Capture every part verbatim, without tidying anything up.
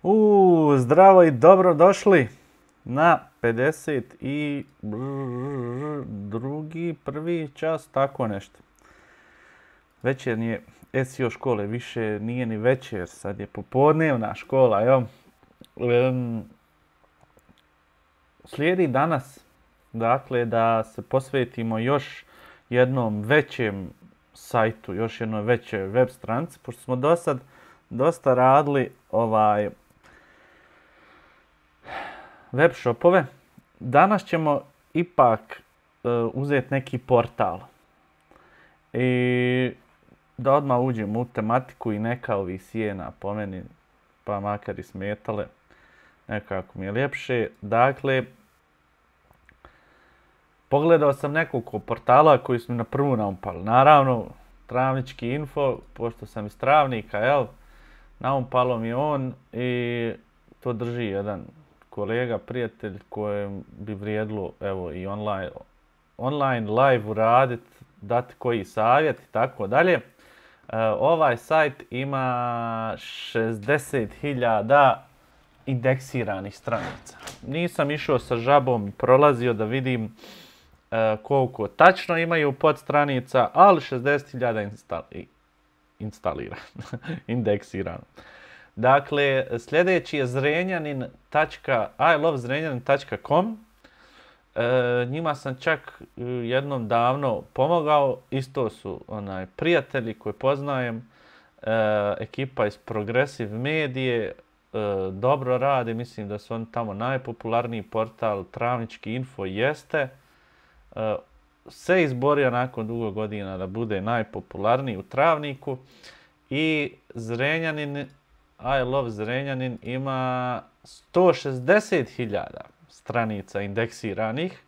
U, zdravo i dobro došli na pedeset i drugi, prvi čas, tako nešto. Večernje je S E O škole, više nije ni večer, sad je popodnevna škola, jo. Um, slijedi danas, dakle, da se posvetimo još jednom većem sajtu, još jednoj većoj web stranici, pošto smo do sad dosta radili ovaj web shopove. Danas ćemo ipak uh, uzeti neki portal i da odmah uđemo u tematiku i neka ovi sjena po meni, pa makar i smetale, nekako mi je ljepše. Dakle, pogledao sam nekoliko portala koji su mi na prvu naumpali. Naravno, Travnički info, pošto sam iz Travnika, jel? Naumpalo mi on i to drži jedan kolega, prijatelj kojem bi vrijedilo evo i online, online live uraditi, dati koji savjet i tako dalje. Ovaj sajt ima šezdeset hiljada indeksiranih stranica. Nisam išao sa žabom, prolazio da vidim uh, koliko tačno imaju podstranica, ali šezdeset hiljada instali, instalira, indeksirano. Dakle, sljedeći je zrenjanin tačka i love zrenjanin tačka com. E, njima sam čak jednom davno pomogao, isto su onaj prijatelji koje poznajem, e, ekipa iz Progressive Medije, e, dobro radi, mislim da su oni tamo najpopularniji portal, Travnički info jeste, e, se izborio nakon dugo godina da bude najpopularniji u Travniku i Zrenjanin, I love Zrenjanin ima sto šezdeset hiljada stranica indeksiranih.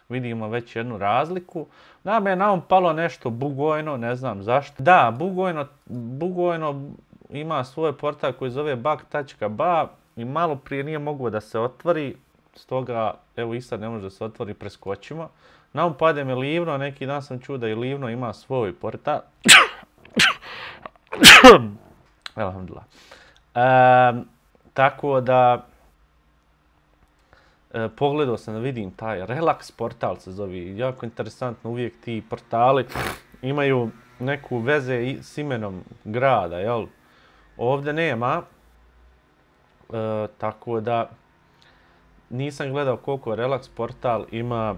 Vidimo već jednu razliku. Nam je naumpalo nešto Bugojno, ne znam zašto. Da, Bugojno, Bugojno ima svoj portal koji zove bug tačka ba i malo prije nije moglo da se otvori. Stoga, evo i sad ne može da se otvori, preskočimo. Naumpade mi Livno, neki dan sam čuo da i Livno ima svoj portal. Alhamdulillah. E, tako da e, pogledao sam da vidim taj Relax portal se zove. Jako interesantno, uvijek ti portali imaju neku veze i, s imenom grada, jel? Ovdje nema, e, tako da nisam gledao koliko Relax portal ima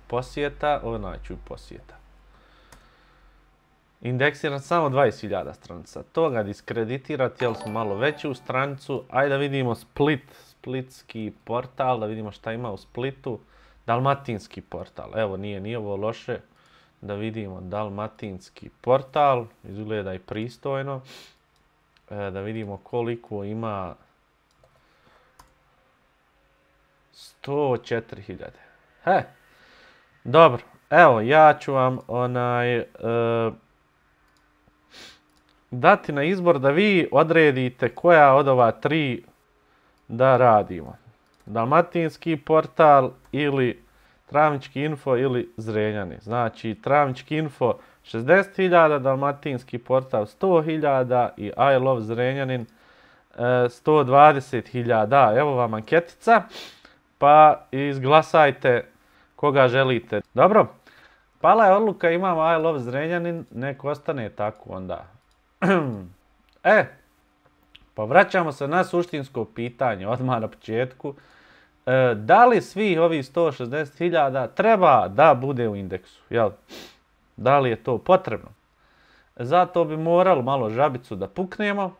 posjeta, ovo ću posjeta. Indeksiran samo dvadeset hiljada stranica. To ga diskreditirati, jel smo malo veći u stranicu. Ajde da vidimo Split, splitski portal, da vidimo šta ima u Splitu. Dalmatinski portal, evo nije, nije ovo loše. Da vidimo Dalmatinski portal, izgleda i pristojno. E, da vidimo koliko ima. sto četiri hiljade. He, dobro, evo ja ću vam onaj... E, dati na izbor da vi odredite koja od ova tri da radimo. Dalmatinski portal ili Travnički info ili Zrenjanin. Znači Travnički info šezdeset hiljada, Dalmatinski portal sto hiljada i I love Zrenjanin sto dvadeset hiljada. Evo vam anketica, pa izglasajte koga želite. Dobro, pala je odluka, imamo I love Zrenjanin, nek ostane tako onda. E, pa vraćamo se na suštinsko pitanje odmah na početku. E, da li svi ovi sto šezdeset hiljada treba da bude u indeksu? Jel? Da li je to potrebno? Zato bi moralo malo žabicu da puknemo,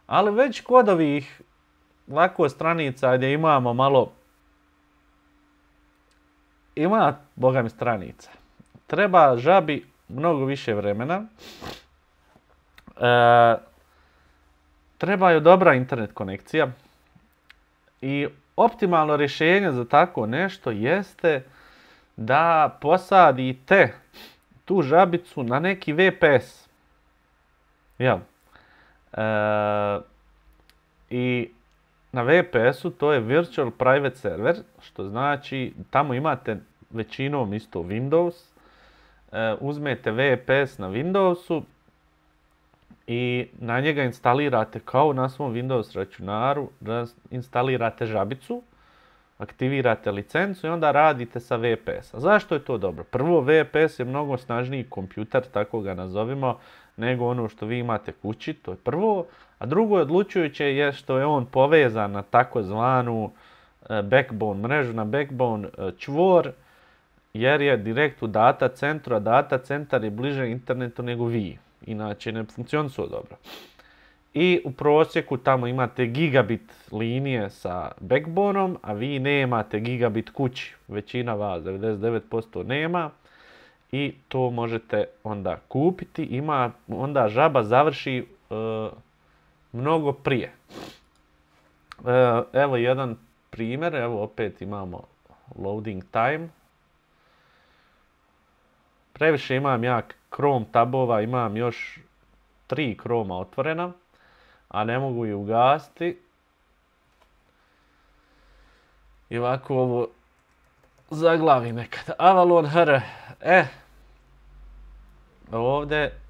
ali već kod ovih lako stranica gdje imamo malo, ima boga mi stranica. Treba žabi mnogo više vremena. E, treba je dobra internet konekcija i optimalno rješenje za tako nešto jeste da posadite tu žabicu na neki V P S. Jel? E, I na V P S-u to je Virtual Private Server, što znači tamo imate većinom isto Windows. E, uzmete V P S na Windowsu i na njega instalirate kao na svom Windows računaru, instalirate žabicu, aktivirate licencu i onda radite sa V P S-a. Zašto je to dobro? Prvo, V P S je mnogo snažniji kompjuter, tako ga nazovimo, nego ono što vi imate kući, to je prvo. A drugo je odlučujuće je što je on povezan na takozvanu backbone mrežu, na backbone čvor, jer je direkt u data centru, a data centar je bliže internetu nego vi. Inače ne funkcionuju dobro. I u prosjeku tamo imate gigabit linije sa backboneom, a vi nemate gigabit kući. Većina vas, devedeset devet posto nema. I to možete onda kupiti. Ima, onda žaba završi e, mnogo prije. E, evo jedan primjer. Evo opet imamo loading time. Previše imam ja Chrome tabova, imam još tri Chroma otvorena, a ne mogu ih ugasiti. I ovako ovo zaglavi nekad. Avalon H R. E, ovdje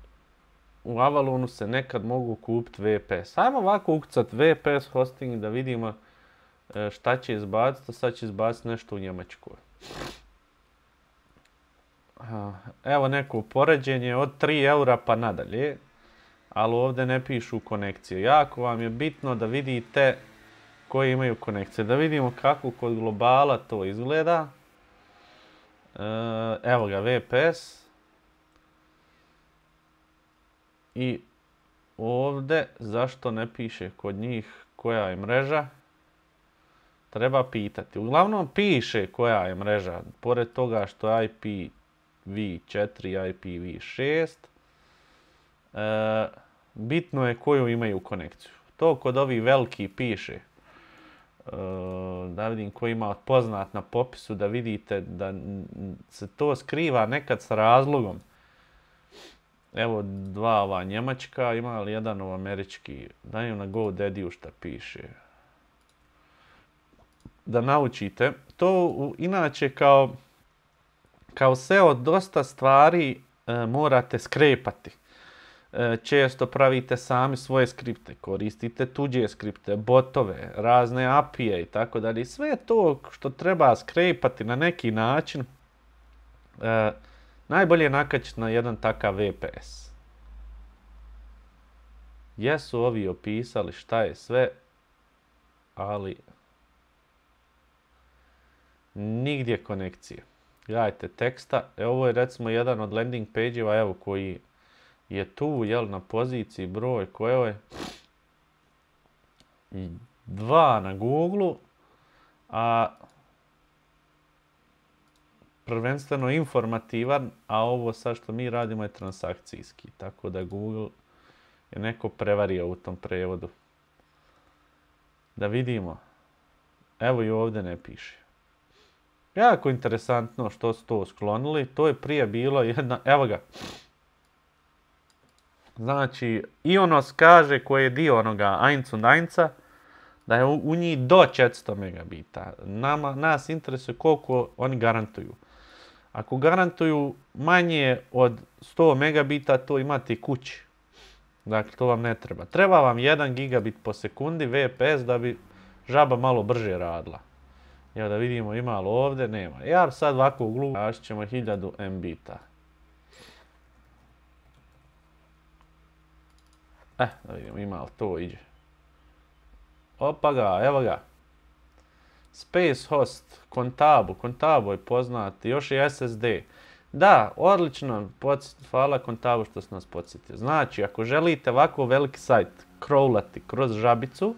u Avalonu se nekad mogu kupiti V P S. Ajmo ovako ukucati V P S hosting da vidimo šta će izbaciti. Sad će izbaciti nešto u Njemačkoj. Evo neko poređenje od tri eura pa nadalje, ali ovdje ne pišu konekcije. Jako vam je bitno da vidite koji imaju konekcije. Da vidimo kako kod globala to izgleda. Evo ga V P S. I ovdje zašto ne piše kod njih koja je mreža? Treba pitati. Uglavnom piše koja je mreža, pored toga što je I P v četiri i I P v šest. E, bitno je koju imaju konekciju. To kod ovih veliki piše. E, da vidim ko ima poznat na popisu, da vidite da se to skriva nekad sa razlogom. Evo dva ova njemačka, ima li jedan ov američki. Dajem na GoDaddy-u šta piše. Da naučite. To inače kao Kao S E O dosta stvari e, morate skrepati. E, često pravite sami svoje skripte, koristite tuđe skripte, botove, razne A P I-e i tako dalje. Sve to što treba skrepati na neki način, e, najbolje je nakačiti na jedan takav V P S. Jesu ovi opisali šta je sve, ali nigdje konekcije. Gledajte teksta, evo ovo je recimo jedan od landing page-eva, evo koji je tu, jel, na poziciji broj koje je dva na Google-u, a prvenstveno informativan, a ovo sad što mi radimo je transakcijski, tako da Google je neko prevario u tom prevodu. Da vidimo, evo i ovdje ne piše. Jako interesantno što su to sklonili. To je prije bilo jedna... Evo ga. Znači, Ionos kaže koji je dio onoga eins und einsa da je u, u njih do četiristo megabita. Nama, nas interesuje koliko oni garantuju. Ako garantuju manje od sto megabita, to imate i kući. Dakle, to vam ne treba. Treba vam jedan gigabit po sekundi V P S da bi žaba malo brže radila. Evo da vidimo ima li ovdje, nema. Ja sad ovako u glu tražit ćemo hiljadu megabita. Eh, da vidimo ima li to iđe. Opa ga, evo ga. Space Host, Contabo, Contabo je poznat, još i S S D. Da, odlično, hvala Contabo što ste nas podsjetili. Znači, ako želite ovako veliki sajt crawlati kroz žabicu,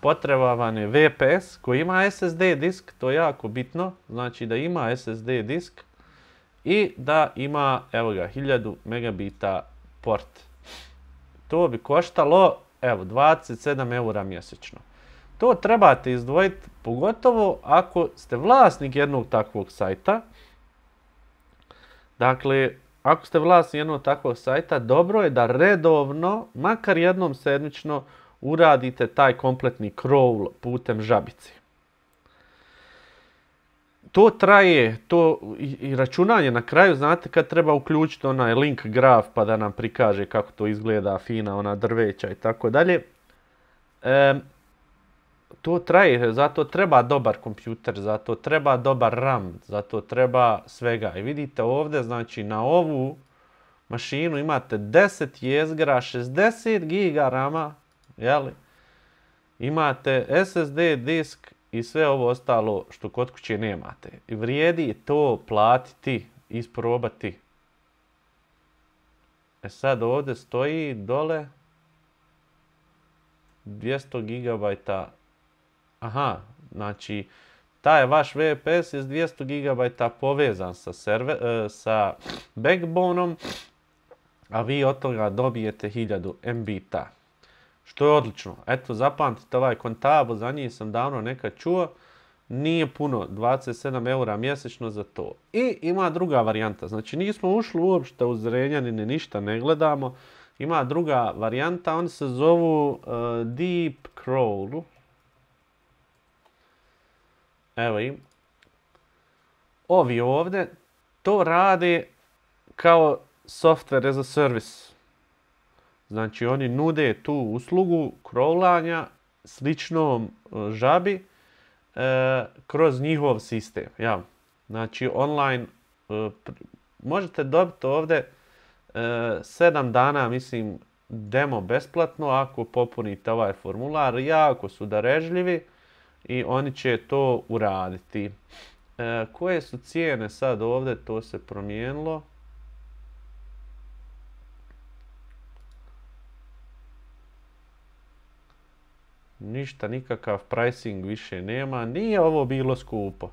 potreba vam je V P S koji ima S S D disk, to je jako bitno, znači da ima S S D disk i da ima, evo ga, hiljadu megabita port. To bi koštalo, evo, dvadeset sedam eura mjesečno. To trebate izdvojiti, pogotovo ako ste vlasnik jednog takvog sajta. Dakle, ako ste vlasnik jednog takvog sajta, dobro je da redovno, makar jednom sedmično, uradite taj kompletni crawl putem žabice. to traje, to i, i računanje na kraju, znate kad treba uključiti onaj link graf pa da nam prikaže kako to izgleda, fina ona drveća i tako dalje. E, to traje, zato treba dobar kompjuter, zato treba dobar RAM, zato treba svega. I vidite ovdje, znači na ovu mašinu imate deset jezgra, šezdeset giga rama, jeli? Imate S S D disk i sve ovo ostalo što kod kuće nemate. I vrijedi to platiti, isprobati. E sad ovdje stoji dole dvjesto gigabajta. Aha, znači taj vaš V P S je s dvjesto gigabajta povezan sa, server, sa backboneom, a vi od toga dobijete hiljadu megabajta. Što je odlično. Eto, zapamtite ovaj Contabo, za njih sam davno nekad čuo. Nije puno, dvadeset sedam eura mjesečno za to. I ima druga varijanta. Znači, nismo ušli uopšte u Zrenjanine, ništa ne gledamo. Ima druga varijanta, oni se zovu uh, Deep Crawl. Evo im. Ovi ovdje to rade kao software as a service. Znači, oni nude tu uslugu crawlanja sličnom žabi e, kroz njihov sistem. Ja. Znači, online e, možete dobiti ovdje e, sedam dana, mislim, demo besplatno ako popunite ovaj formular. Jako su darežljivi i oni će to uraditi. E, koje su cijene sad ovdje? To se promijenilo. Ništa, nikakav pricing više nema. Nije ovo bilo skupo.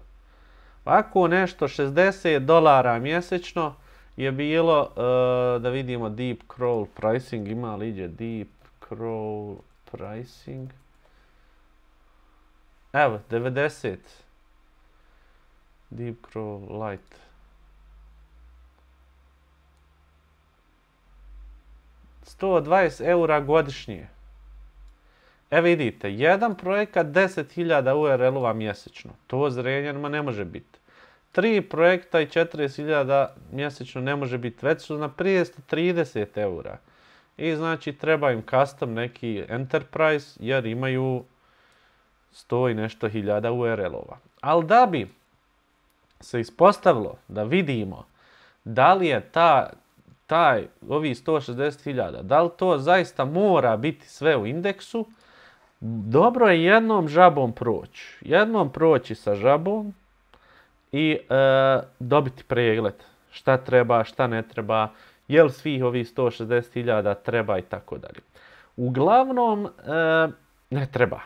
Ovako nešto šezdeset dolara mjesečno je bilo, uh, da vidimo Deep Crawl pricing, ima li iđe Deep Crawl pricing. Evo, devedeset. Deep Crawl Lite. sto dvadeset eura godišnje. E vidite, jedan projekat deset hiljada U R L-ova mjesečno. To Zrenjanima ne može biti. Tri projekta i četrdeset hiljada mjesečno ne može biti. Već su na petsto trideset eura. I znači treba im custom neki enterprise jer imaju sto i nešto hiljada U R L-ova. Ali da bi se ispostavilo da vidimo da li je ta, taj, ovi sto šezdeset hiljada, da li to zaista mora biti sve u indeksu, dobro je jednom žabom proći. Jednom proći sa žabom i e, dobiti pregled. Šta treba, šta ne treba, jel svih ovih sto šezdeset hiljada treba i tako dalje. Uglavnom, e, ne treba.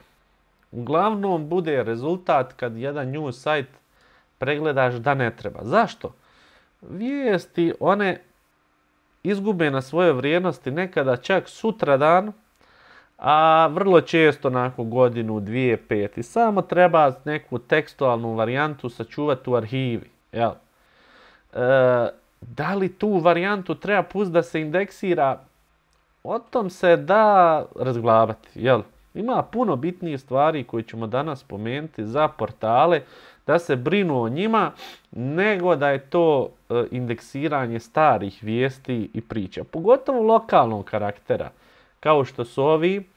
Uglavnom bude rezultat kad jedan news site pregledaš da ne treba. Zašto? Vijesti, one izgube na svoje vrijednosti nekada čak sutradan, a vrlo često nakon godinu, dvije, pet. I samo treba neku tekstualnu varijantu sačuvati u arhivi. Jel? E, da li tu varijantu treba pustiti da se indeksira? O tom se da razglabati. Jel? Ima puno bitnijih stvari koje ćemo danas spomenuti za portale, da se brinu o njima, nego da je to e, indeksiranje starih vijesti i priča. Pogotovo lokalnog karaktera. Kao što su ovi,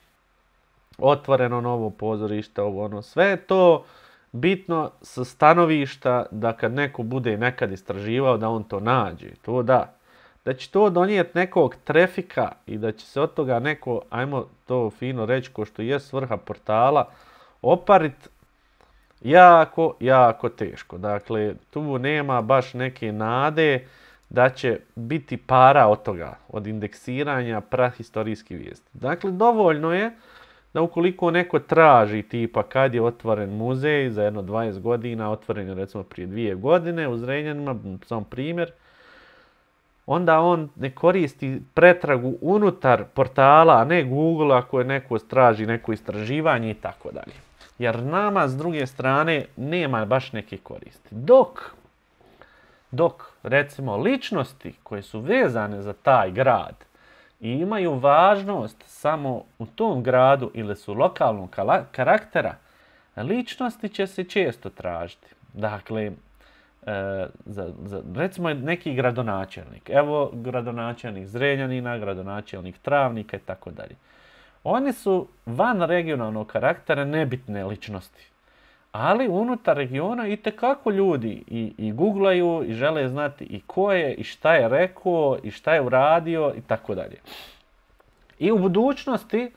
otvoreno novo pozorište, ovo ono, sve je to bitno sa stanovišta da kad neko bude nekad istraživao da on to nađe, to da. Da će to donijeti nekog trafika i da će se od toga neko, ajmo to fino reći ko što je svrha portala, oparit jako, jako teško. Dakle, tu nema baš neke nade da će biti para od toga, od indeksiranja prahistorijskih vijesti. Dakle, dovoljno je da ukoliko neko traži tipa kad je otvoren muzej za jedno dvadeset godina, otvoren je recimo prije dvije godine u Zrenjanima, sam primjer, onda on ne koristi pretragu unutar portala, a ne Google ako je neko traži neko istraživanje i tako dalje. Jer nama s druge strane nema baš neke koristi. Dok Dok, recimo, ličnosti koje su vezane za taj grad i imaju važnost samo u tom gradu ili su lokalnog karaktera, ličnosti će se često tražiti. Dakle, e, za, za, recimo neki gradonačelnik. Evo gradonačelnik Zrenjanina, gradonačelnik Travnika i tako dalje. Oni su van regionalnog karaktera nebitne ličnosti. Ali unutar regiona itekako ljudi i, i googlaju i žele znati i ko je i šta je rekao i šta je uradio i tako dalje. I u budućnosti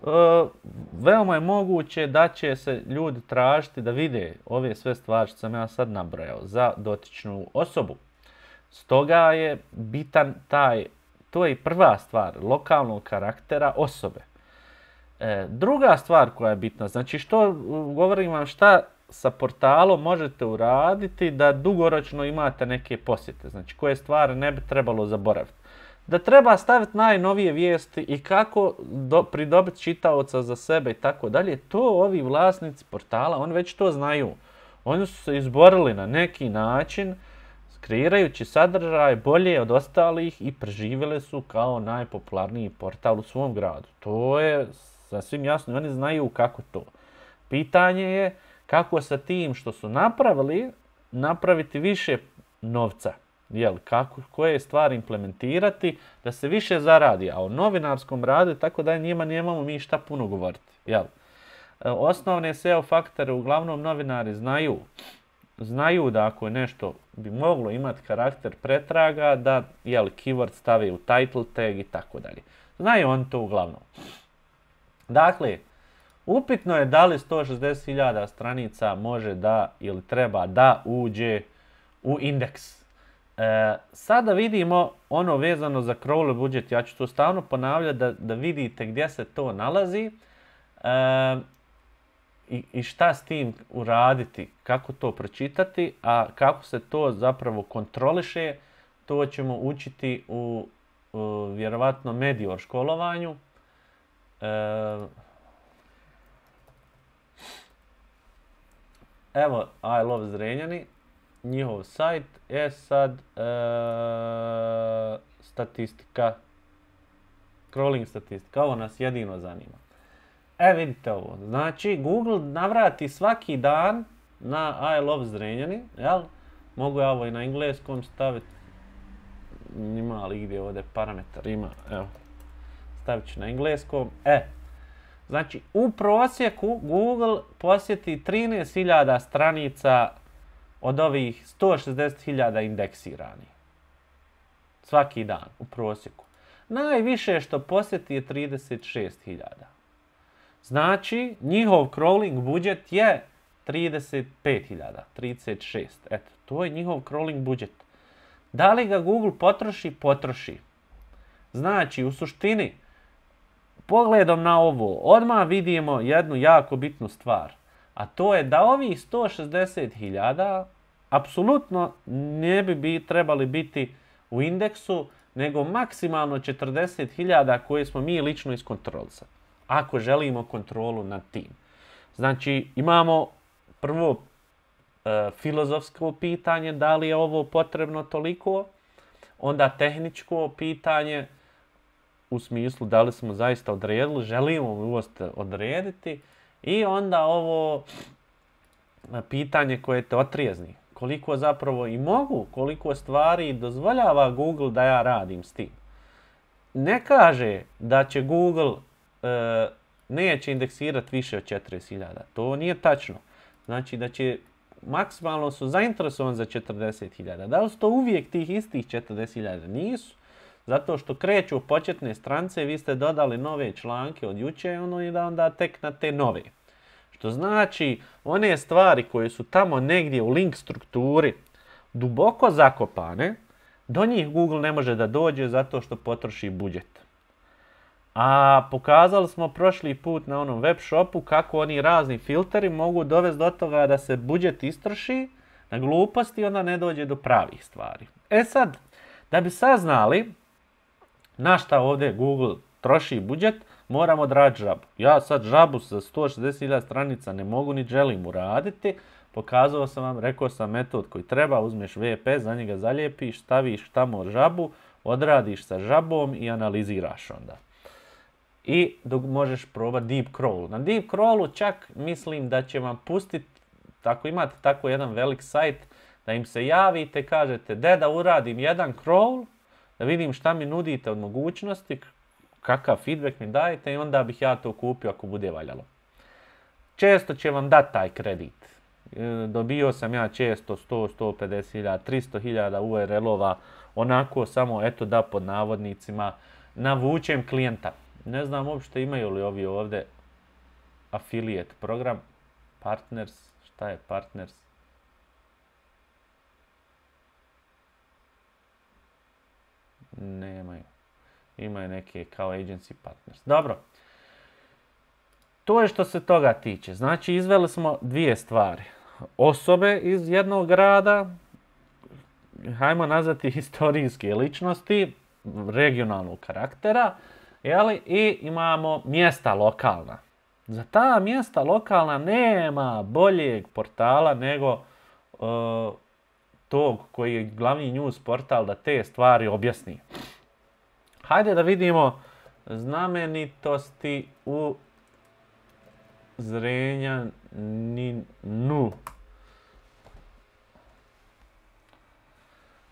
uh, veoma je moguće da će se ljudi tražiti da vide ove sve stvari što sam ja sad nabrojao za dotičnu osobu. Stoga je bitan taj, to je i prva stvar, lokalnog karaktera osobe. E, druga stvar koja je bitna, znači što govorim vam šta sa portalom možete uraditi da dugoročno imate neke posjete, znači koje stvari ne bi trebalo zaboraviti. Da treba staviti najnovije vijesti i kako do, pridobiti čitaoca za sebe i tako dalje, to ovi vlasnici portala, oni već to znaju. Oni su se izborili na neki način, kreirajući sadržaj bolje od ostalih i preživjeli su kao najpopularniji portal u svom gradu. To je sasvim jasno, oni znaju kako to. Pitanje je kako sa tim što su napravili, napraviti više novca. Jel, kako, koje stvari implementirati da se više zaradi, a o novinarskom radu tako da njima nemamo mi šta puno govoriti. Jel? Osnovne S E O faktore uglavnom novinari znaju. Znaju da ako je nešto bi moglo imati karakter pretraga, da jel, keyword stave u title tag i tako dalje. Znaju oni to uglavnom. Dakle, upitno je da li sto šezdeset hiljada stranica može da ili treba da uđe u indeks. E, sada vidimo ono vezano za crawler budžet, ja ću to stalno ponavljati da, da vidite gdje se to nalazi e, i, i šta s tim uraditi, kako to pročitati, a kako se to zapravo kontroliše, to ćemo učiti u, u vjerovatno Medior školovanju. E, evo I Love Zrenjani, njihov sajt je sad e, statistika, crawling statistika, ovo nas jedino zanima. E vidite ovo, znači Google navrati svaki dan na I Love Zrenjani, jel? Mogu ja ovo i na engleskom staviti, ima li gdje ovdje parametar, ima, evo, stavit ću na engleskom, e. Znači u prosjeku Google posjeti trinaest hiljada stranica od ovih sto šezdeset hiljada indeksiranih. Svaki dan u prosjeku. Najviše što posjeti je trideset šest hiljada. Znači, njihov crawling budžet je trideset pet hiljada, trideset šest. Eto, to je njihov crawling budžet. Da li ga Google potroši? Potroši. Znači, u suštini, pogledom na ovo, odmah vidimo jednu jako bitnu stvar. A to je da ovih sto šezdeset hiljada apsolutno ne bi, bi trebali biti u indeksu, nego maksimalno četrdeset hiljada koje smo mi lično iskontrolisali. Ako želimo kontrolu nad tim. Znači imamo prvo e, filozofsko pitanje da li je ovo potrebno toliko, onda tehničko pitanje u smislu da li smo zaista odredili, želimo uvost odrediti i onda ovo pitanje koje te otrijezni. Koliko zapravo i mogu, koliko stvari dozvoljava Google da ja radim s tim. Ne kaže da će Google e, neće indeksirati više od četrdeset hiljada. To nije tačno. Znači da će maksimalno su zainteresovani za četrdeset hiljada. Da li su to uvijek tih istih četrdeset hiljada? Nisu. Zato što kreću početne strance, vi ste dodali nove članke od juče ono, i da onda tek na te nove. Što znači, one stvari koje su tamo negdje u link strukturi duboko zakopane, do njih Google ne može da dođe zato što potroši budžet. A pokazali smo prošli put na onom web shopu kako oni razni filteri mogu dovesti do toga da se budžet istroši na gluposti i onda ne dođe do pravih stvari. E sad, da bi saznali na šta ovdje Google troši budžet, moramo odraditi žabu. Ja sad žabu sa sto šezdeset hiljada stranica ne mogu ni želim uraditi. Pokazao sam vam, rekao sam metod koji treba, uzmeš V P, za njega zalijepiš, staviš tamo žabu, odradiš sa žabom i analiziraš onda. I dok možeš probati deep crawl. Na deep crawlu čak mislim da će vam pustiti ako imate tako jedan velik sajt, da im se javite i kažete de da uradim jedan crawl, da vidim šta mi nudite od mogućnosti, kakav feedback mi dajete i onda bih ja to kupio ako bude valjalo. Često će vam dati taj kredit. Dobio sam ja često sto, sto pedeset hiljada, tristo hiljada U R L-ova, onako samo eto da pod navodnicima navučem klijenta. Ne znam uopšte imaju li ovi ovdje affiliate program, partners, šta je partners? Nemaju. Imaju neke kao agency partners. Dobro. To je što se toga tiče. Znači, izveli smo dvije stvari. Osobe iz jednog grada, hajmo nazvati historijske ličnosti, regionalnog karaktera, jeli? I imamo mjesta lokalna. Za ta mjesta lokalna nema boljeg portala nego uh, tog koji je glavni news portal da te stvari objasni. Hajde da vidimo znamenitosti u Zrenjaninu.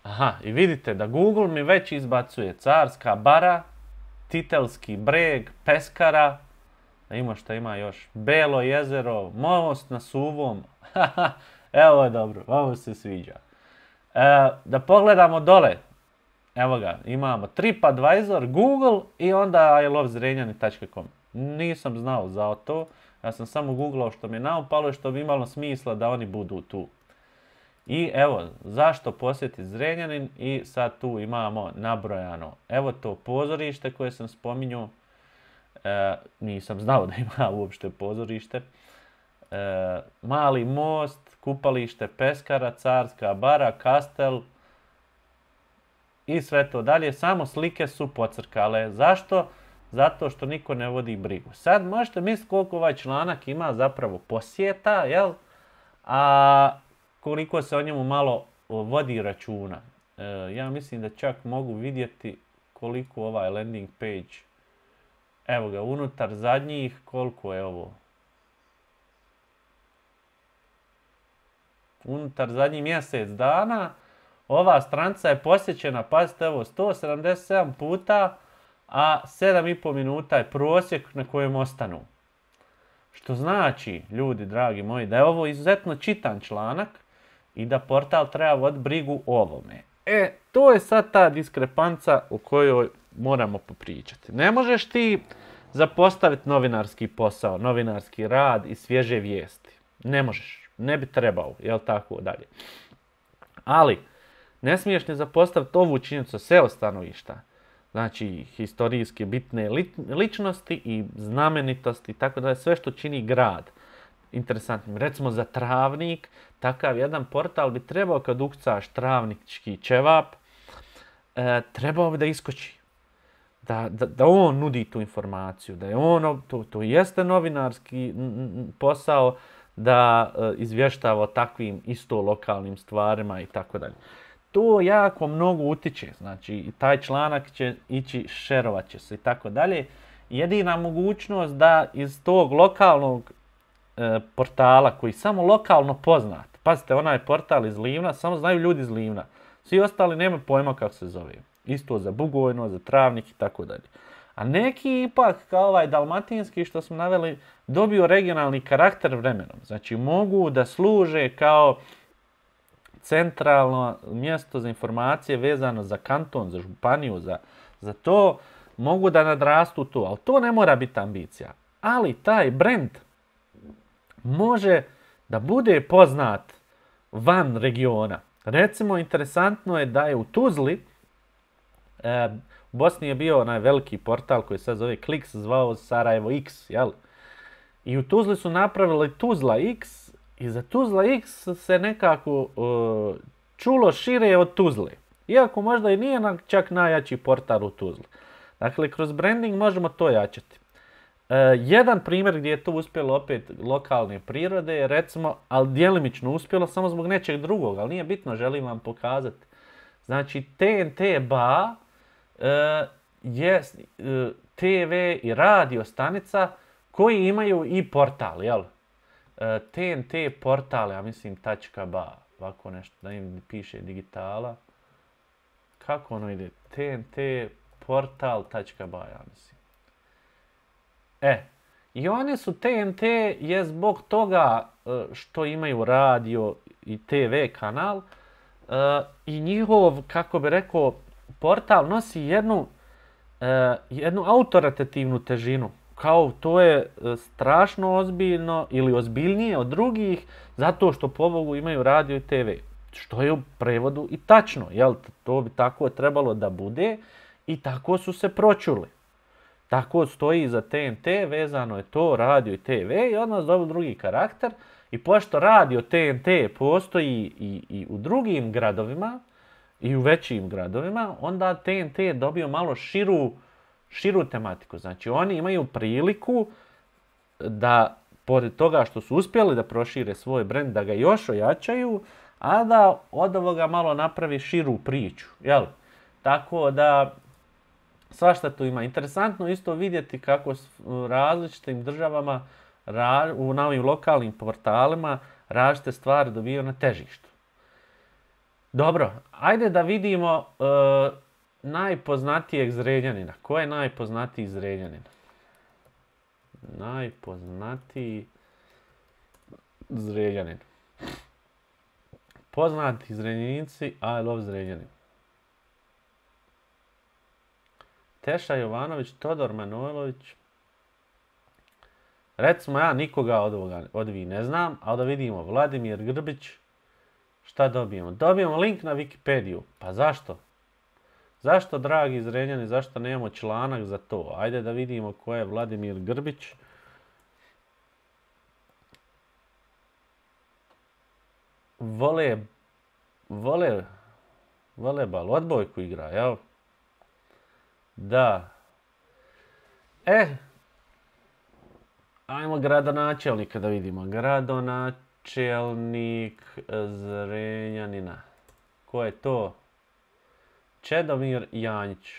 Aha, i vidite da Google mi već izbacuje Carska bara, Titelski breg, Peskara, da ima šta ima još, Belo jezero, most na Suvom. Evo je dobro, ovo se sviđa. E, da pogledamo dole. Evo ga, imamo TripAdvisor, Google i onda i love zrenjanin tačka com. Nisam znao za to. Ja sam samo googlao što mi je naupalo i što bi imalo smisla da oni budu tu. I evo, zašto posjetiti Zrenjanin i sad tu imamo nabrojano. Evo to pozorište koje sam spominjao. E, nisam znao da ima uopšte pozorište. E, Mali most, kupalište Peskara, Carska bara, Kastel i sve to dalje. Samo slike su pocrkale. Zašto? Zato što niko ne vodi brigu. Sad možete misliti koliko ovaj članak ima zapravo posjeta, jel? A koliko se o njemu malo vodi računa. E, ja mislim da čak mogu vidjeti koliko ovaj landing page, evo ga, unutar zadnjih, koliko je ovo? Unutar zadnjih mjesec dana, ova stranca je posjećena, pazite ovo, sto sedamdeset sedam puta, a sedam i pol minuta je prosjek na kojem ostanu. Što znači, ljudi dragi moji, da je ovo izuzetno čitan članak i da portal treba voditi brigu o ovome. E, to je sad ta diskrepanca o kojoj moramo popričati. Ne možeš ti zapostaviti novinarski posao, novinarski rad i svježe vijesti. Ne možeš. Ne bi trebao, jel tako dalje. Ali, ne smiješ ni zapostaviti ovu činjenicu S E O stanovišta. Znači, historijske bitne ličnosti i znamenitosti, tako da je sve što čini grad interesantnim. Recimo za Travnik, takav jedan portal bi trebao kad ukucaš travnički ćevap, e, trebao bi da iskoči. Da, da, da on nudi tu informaciju, da je ono, to, to jeste novinarski posao, da e, izvještava o takvim isto lokalnim stvarima i tako dalje. To jako mnogo utiče, znači taj članak će ići, šerovat će se i tako dalje. Jedina mogućnost da iz tog lokalnog e, portala koji samo lokalno poznat, pazite, onaj portal iz Livna, samo znaju ljudi iz Livna, svi ostali nema pojma kako se zove. Isto za Bugojno, za Travnik i tako dalje. A neki ipak, kao ovaj dalmatinski što smo naveli, dobiju regionalni karakter vremenom. Znači mogu da služe kao centralno mjesto za informacije vezano za kanton, za županiju, za, za to, mogu da nadrastu to, ali to ne mora biti ambicija. Ali taj brand može da bude poznat van regiona. Recimo, interesantno je da je u Tuzli, e, u Bosni je bio onaj veliki portal koji se zove Kliks, zvao Sarajevo X, jel? I u Tuzli su napravili Tuzla X, i za Tuzla X se nekako uh, čulo šire od Tuzle. Iako možda i nije čak najjači portal u Tuzli. Dakle, kroz branding možemo to jačati. Uh, jedan primjer gdje je to uspjelo opet lokalne prirode je recimo, ali djelimično uspjelo samo zbog nečeg drugog, ali nije bitno, želim vam pokazati. Znači, T N T B A uh, je uh, T V i radio stanica koji imaju i portal, jel? T N T portal, ja mislim .ba, ovako nešto, da im piše digitala. Kako ono ide? T N T portal.ba, ja mislim. E, i oni su T N T je zbog toga što imaju radio i T V kanal i njihov, kako bi rekao, portal nosi jednu, jednu autoritativnu težinu. Kao to je strašno ozbiljno ili ozbiljnije od drugih zato što pobogu imaju radio i T V. Što je u prevodu i tačno, jel? To bi tako trebalo da bude i tako su se pročuli. Tako stoji za T N T, vezano je to radio i T V i odmah zove drugi karakter. I pošto radio T N T postoji i, i u drugim gradovima i u većim gradovima, onda T N T je dobio malo širu, širu tematiku. Znači oni imaju priliku da, pored toga što su uspjeli da prošire svoj brend, da ga još ojačaju, a da od ovoga malo napravi širu priču, jel? Tako da, svašta tu ima. Interesantno isto vidjeti kako u različitim državama, u novim lokalnim portalima, različite stvari dobiju na težištu. Dobro, ajde da vidimo e, najpoznatijeg Zrenjanina. Ko je najpoznatiji Zrenjanin? Najpoznatiji Zrenjanin. Poznati Zrenjaninci, I love Zrenjanin. Teša Jovanović, Todor Manojlović. Recimo ja nikoga od ovoga od vi ne znam, ali da vidimo Vladimir Grbić. Šta dobijemo? Dobijemo link na Wikipediju. Pa zašto? Zašto, dragi Zrenjani, zašto nemamo članak za to? Ajde da vidimo ko je Vladimir Grbić. Vole, vole, volebal, odbojku igra, jel? Da. E, ajmo gradonačelnika da vidimo. Gradonačelnik Zrenjanina. Ko je to? Čedomir Janjić.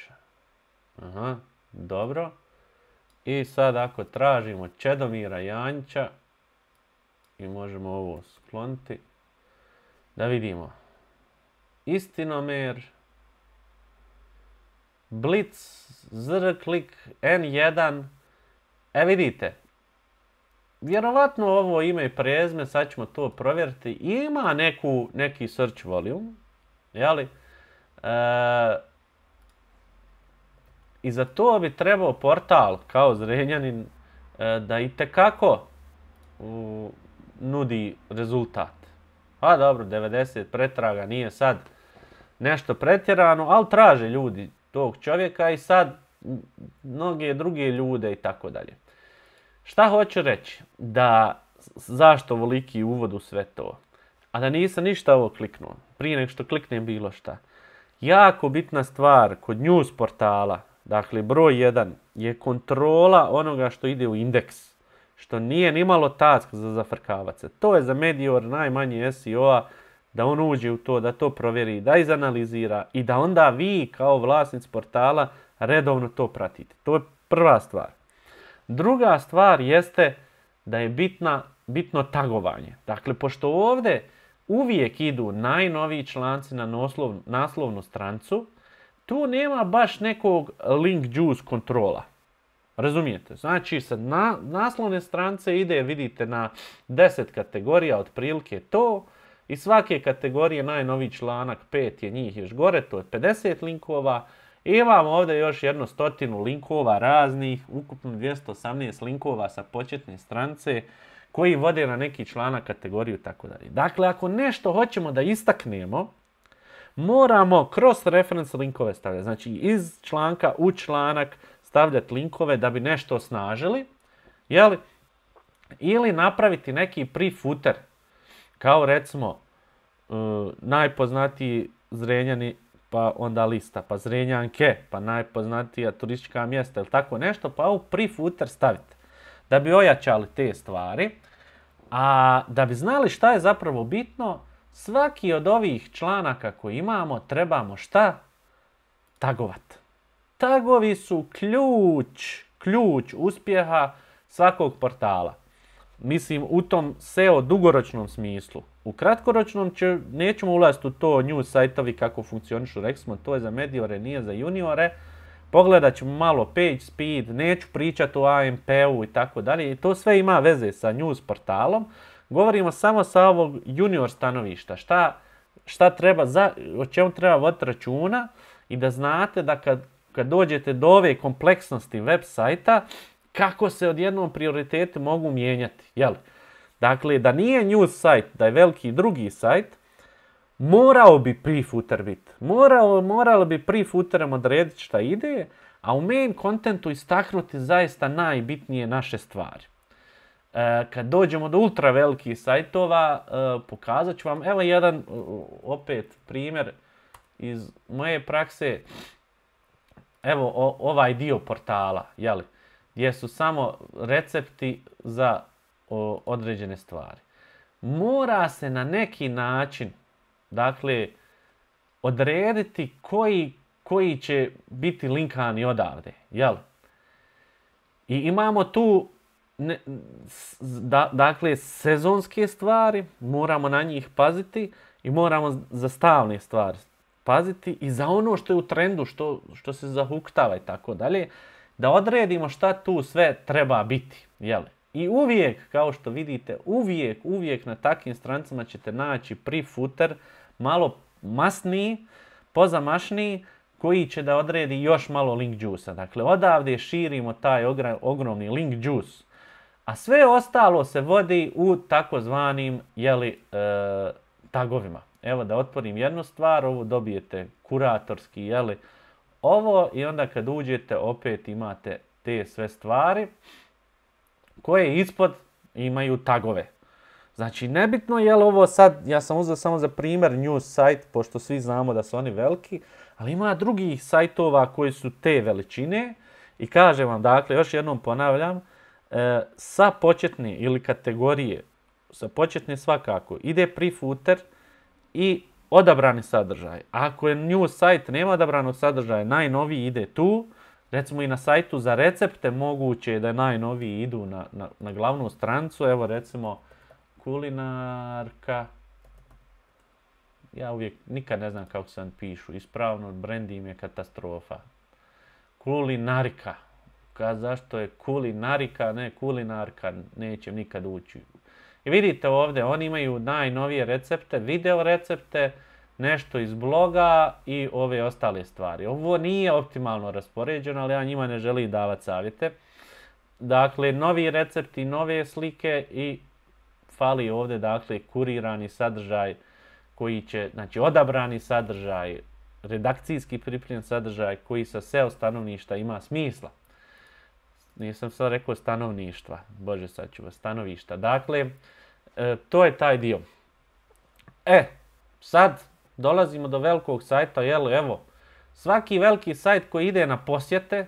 Aha, dobro. I sad ako tražimo Čedomira Janjića i možemo ovo skloniti, da vidimo. Istinomer, Blitz, Zrklik, N jedan. E vidite, vjerovatno ovo ime i prezme, sad ćemo to provjeriti, ima neku, neki search volume, jeli? E, I za to bi trebao portal kao Zrenjanin e, da itekako u, nudi rezultat. A dobro, devedeset pretraga nije sad nešto pretjerano, ali traže ljudi tog čovjeka i sad mnoge druge ljude i tako dalje. Šta hoću reći? Da zašto voliki uvod u sve to? A da nisam ništa ovo kliknuo. Prije nego što kliknem bilo šta. Jako bitna stvar kod news portala, dakle broj jedan, je kontrola onoga što ide u indeks. Što nije nimalo task za zafrkavac se. To je za Medior najmanje S E O-a, da on uđe u to, da to provjeri, da izanalizira i da onda vi kao vlasnici portala redovno to pratite. To je prva stvar. Druga stvar jeste da je bitna, bitno tagovanje. Dakle, pošto ovdje uvijek idu najnoviji članci na naslov, naslovnu strancu, tu nema baš nekog link juice kontrola. Razumijete? Znači, sa na, naslovne strance ide, vidite, na deset kategorija, otprilike to, i svake kategorije najnoviji članak, pet je njih još gore, to je pedeset linkova. I imamo ovdje još jedno stotinu linkova raznih, ukupno dvjesto osamnaest linkova sa početne strance koji vode na neki članak, kategoriju i tako dalje. Dakle, ako nešto hoćemo da istaknemo, moramo cross reference linkove stavljati. Znači, iz članka u članak stavljati linkove da bi nešto osnažili, jeli? Ili napraviti neki pre-footer, kao recimo uh, najpoznatiji Zrenjani, pa onda lista, pa Zrenjanke, pa najpoznatija turistička mjesta ili tako nešto, pa u pre-footer stavite. Da bi ojačali te stvari, a da bi znali šta je zapravo bitno, svaki od ovih članaka koji imamo trebamo šta? Tagovat. Tagovi su ključ, ključ uspjeha svakog portala. mislim u tom S E O dugoročnom smislu. U kratkoročnom će, nećemo ulaziti u to news sajtovi kako funkcionišu, rekli smo to je za mediore, nije za juniore. Pogledat ćemo malo page speed, neću pričati o A M P-u i tako dalje. I to sve ima veze sa news portalom. Govorimo samo sa ovog junior stanovišta. Šta, šta treba, za, o čemu treba voditi računa i da znate da kad, kad dođete do ove kompleksnosti web sajta, kako se odjednom prioriteti mogu mijenjati. Jel? Dakle, da nije news sajt, da je veliki drugi sajt, morao bi pre-footer biti. Moralo, moralo bi pre-footerom odrediti šta ide, a u main contentu istaknuti zaista najbitnije naše stvari. E, kad dođemo do ultra velikih sajtova, e, pokazat ću vam, evo jedan opet primjer iz moje prakse, evo o, ovaj dio portala, jeli, gdje su samo recepti za o, određene stvari. Mora se na neki način, dakle, odrediti koji, koji će biti linkani odavde, jel? I imamo tu, ne, da, dakle, sezonske stvari, moramo na njih paziti i moramo za stalne stvari paziti i za ono što je u trendu, što, što se zahuktava i tako dalje, da odredimo šta tu sve treba biti, jel? I uvijek, kao što vidite, uvijek, uvijek na takvim stranicama ćete naći pre-footer, malo masniji, pozamašniji, koji će da odredi još malo link juice-a. Dakle, odavde širimo taj ogromni link juice. A sve ostalo se vodi u takozvanim, jeli, e, tagovima. Evo da otvorim jednu stvar, ovo dobijete kuratorski, jeli, ovo i onda kad uđete opet imate te sve stvari koje ispod imaju tagove. Znači, nebitno je li ovo sad, ja sam uzeo samo za primjer news sajt, pošto svi znamo da su oni veliki, ali ima drugih sajtova koji su te veličine i kažem vam, dakle, još jednom ponavljam, e, sa početne ili kategorije, sa početne svakako, ide pre-footer i odabrani sadržaj. Ako je news sajt, nema odabranog sadržaja, najnoviji ide tu. Recimo i na sajtu za recepte moguće je da najnoviji idu na, na, na glavnu stranicu. Evo recimo kulinarka. Ja uvijek nikad ne znam kako se vam pišu. Ispravno, brendi im je katastrofa. Kulinarika. Ka, zašto je kulinarika, ne kulinarka, neće nikad ući. I vidite ovdje, oni imaju najnovije recepte, video recepte, nešto iz bloga i ove ostale stvari. Ovo nije optimalno raspoređeno, ali ja njima ne želim davati savjete. Dakle, novi recepti, nove slike i fali ovdje, dakle, kurirani sadržaj koji će, znači, odabrani sadržaj, redakcijski pripremljen sadržaj koji sa S E O stanovništa ima smisla. Nisam sad rekao stanovništva, bože sad ću vas, stanovišta. Dakle, e, to je taj dio. E, sad dolazimo do velikog sajta, jel, evo, svaki veliki sajt koji ide na posjete